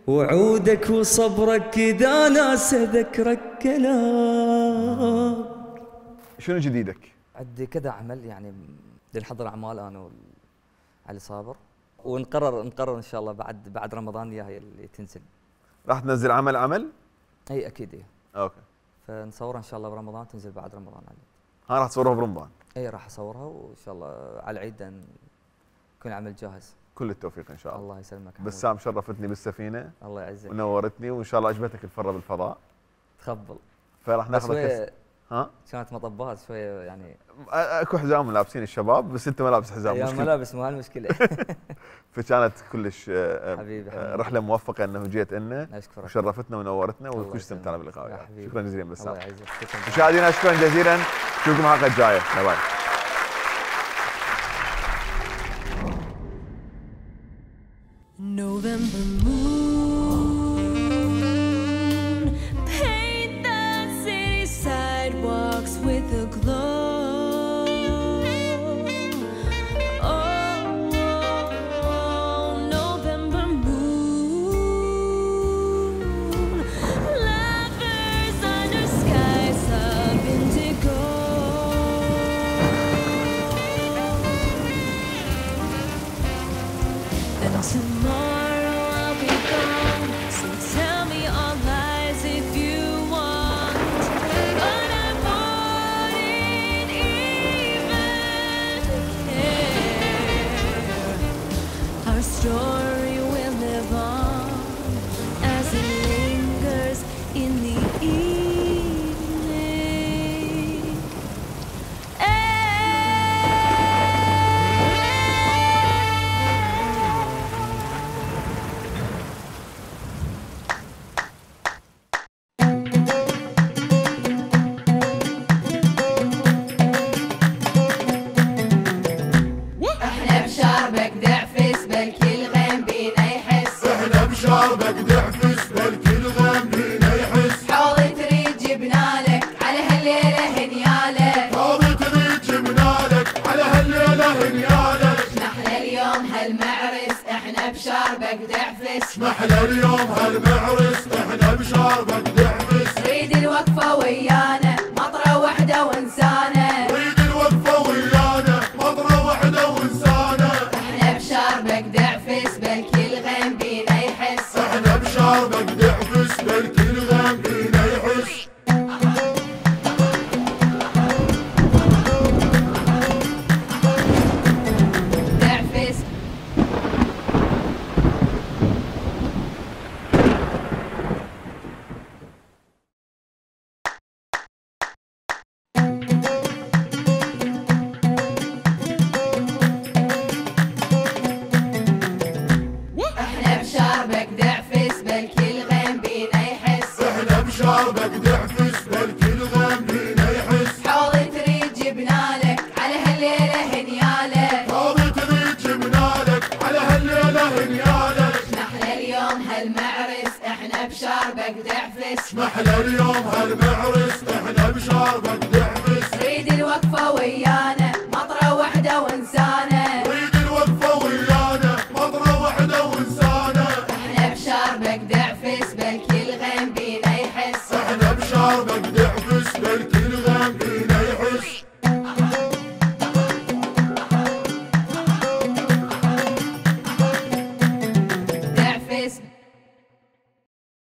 وعودك وصبرك اذا ناس اذكرك كلام. شنو جديدك؟ عندي كذا عمل يعني نحضر اعمال انا وعلي صابر ونقرر ان شاء الله بعد رمضان هي اللي تنزل. راح تنزل عمل؟ اي اكيد اي. اوكي. فنصورها ان شاء الله برمضان تنزل بعد رمضان علي. راح تصورها برمضان؟ اي راح اصورها وان شاء الله على العيد يكون العمل جاهز. كل التوفيق ان شاء الله. الله يسلمك. بسام شرفتني بالسفينه. الله يعزك. ونورتني وان شاء الله عجبتك الفره بالفضاء. تخبل. فراح ناخذك كانت مطبات شويه يعني اكو حزام لابسين الشباب بس انت ما لابس حزام. يا ملابس مو هالمشكله. فكانت كلش حبيبي رحله موفقه انه جيت لنا اشكرك وشرفتنا ونورتنا وكلش استمتعنا باللقاء. شكرا جزيلا بسام. الله يعزك. مشاهدينا شكرا جزيلا. نشوفكم الحلقه الجايه. باي باي. November moon, paint the city sidewalks with a glow. Oh, November moon, lovers under skies of indigo. And tomorrow I'll be gone, so tell me all lies if you want. But I wouldn't even care. Our story will live on as it lingers in the evening. احنا بشربك دعفس بالكل غيم بينا يحس. احنا بشربك دعفس بالكل غيم بينا يحس. حوض تريد جبنالك على هالليله هنيالك. حوض تريد جبنالك على هالليله هنيالك. محلى اليوم هالمعرس احنا بشربك دعفس. محلى اليوم هالمعرس احنا بشربك دعفس. ريد الوقفه ويانا مطره وحده وانسانه. ريد الوقفه ويانا مطره وحده وانسانه. احنا بشربك دعفس بالكل غيم بينا يحس. احنا بشربك دعفس بالكل غيم بينا يحس. دعفس احنا بشربك دعفس بالكل غيم بينا يحس. احنا بشربك دعفس بالكل غيم بينا يحس. حوض تريد جبنالك على هالليله هنيالك. حوض تريد جبنالك على هالليله هنيالك. محلى اليوم هالمعرس احنا بشربك دعفس. محلى اليوم هالمعرس احنا بشربك دعفس. ريد الوقفه ويانا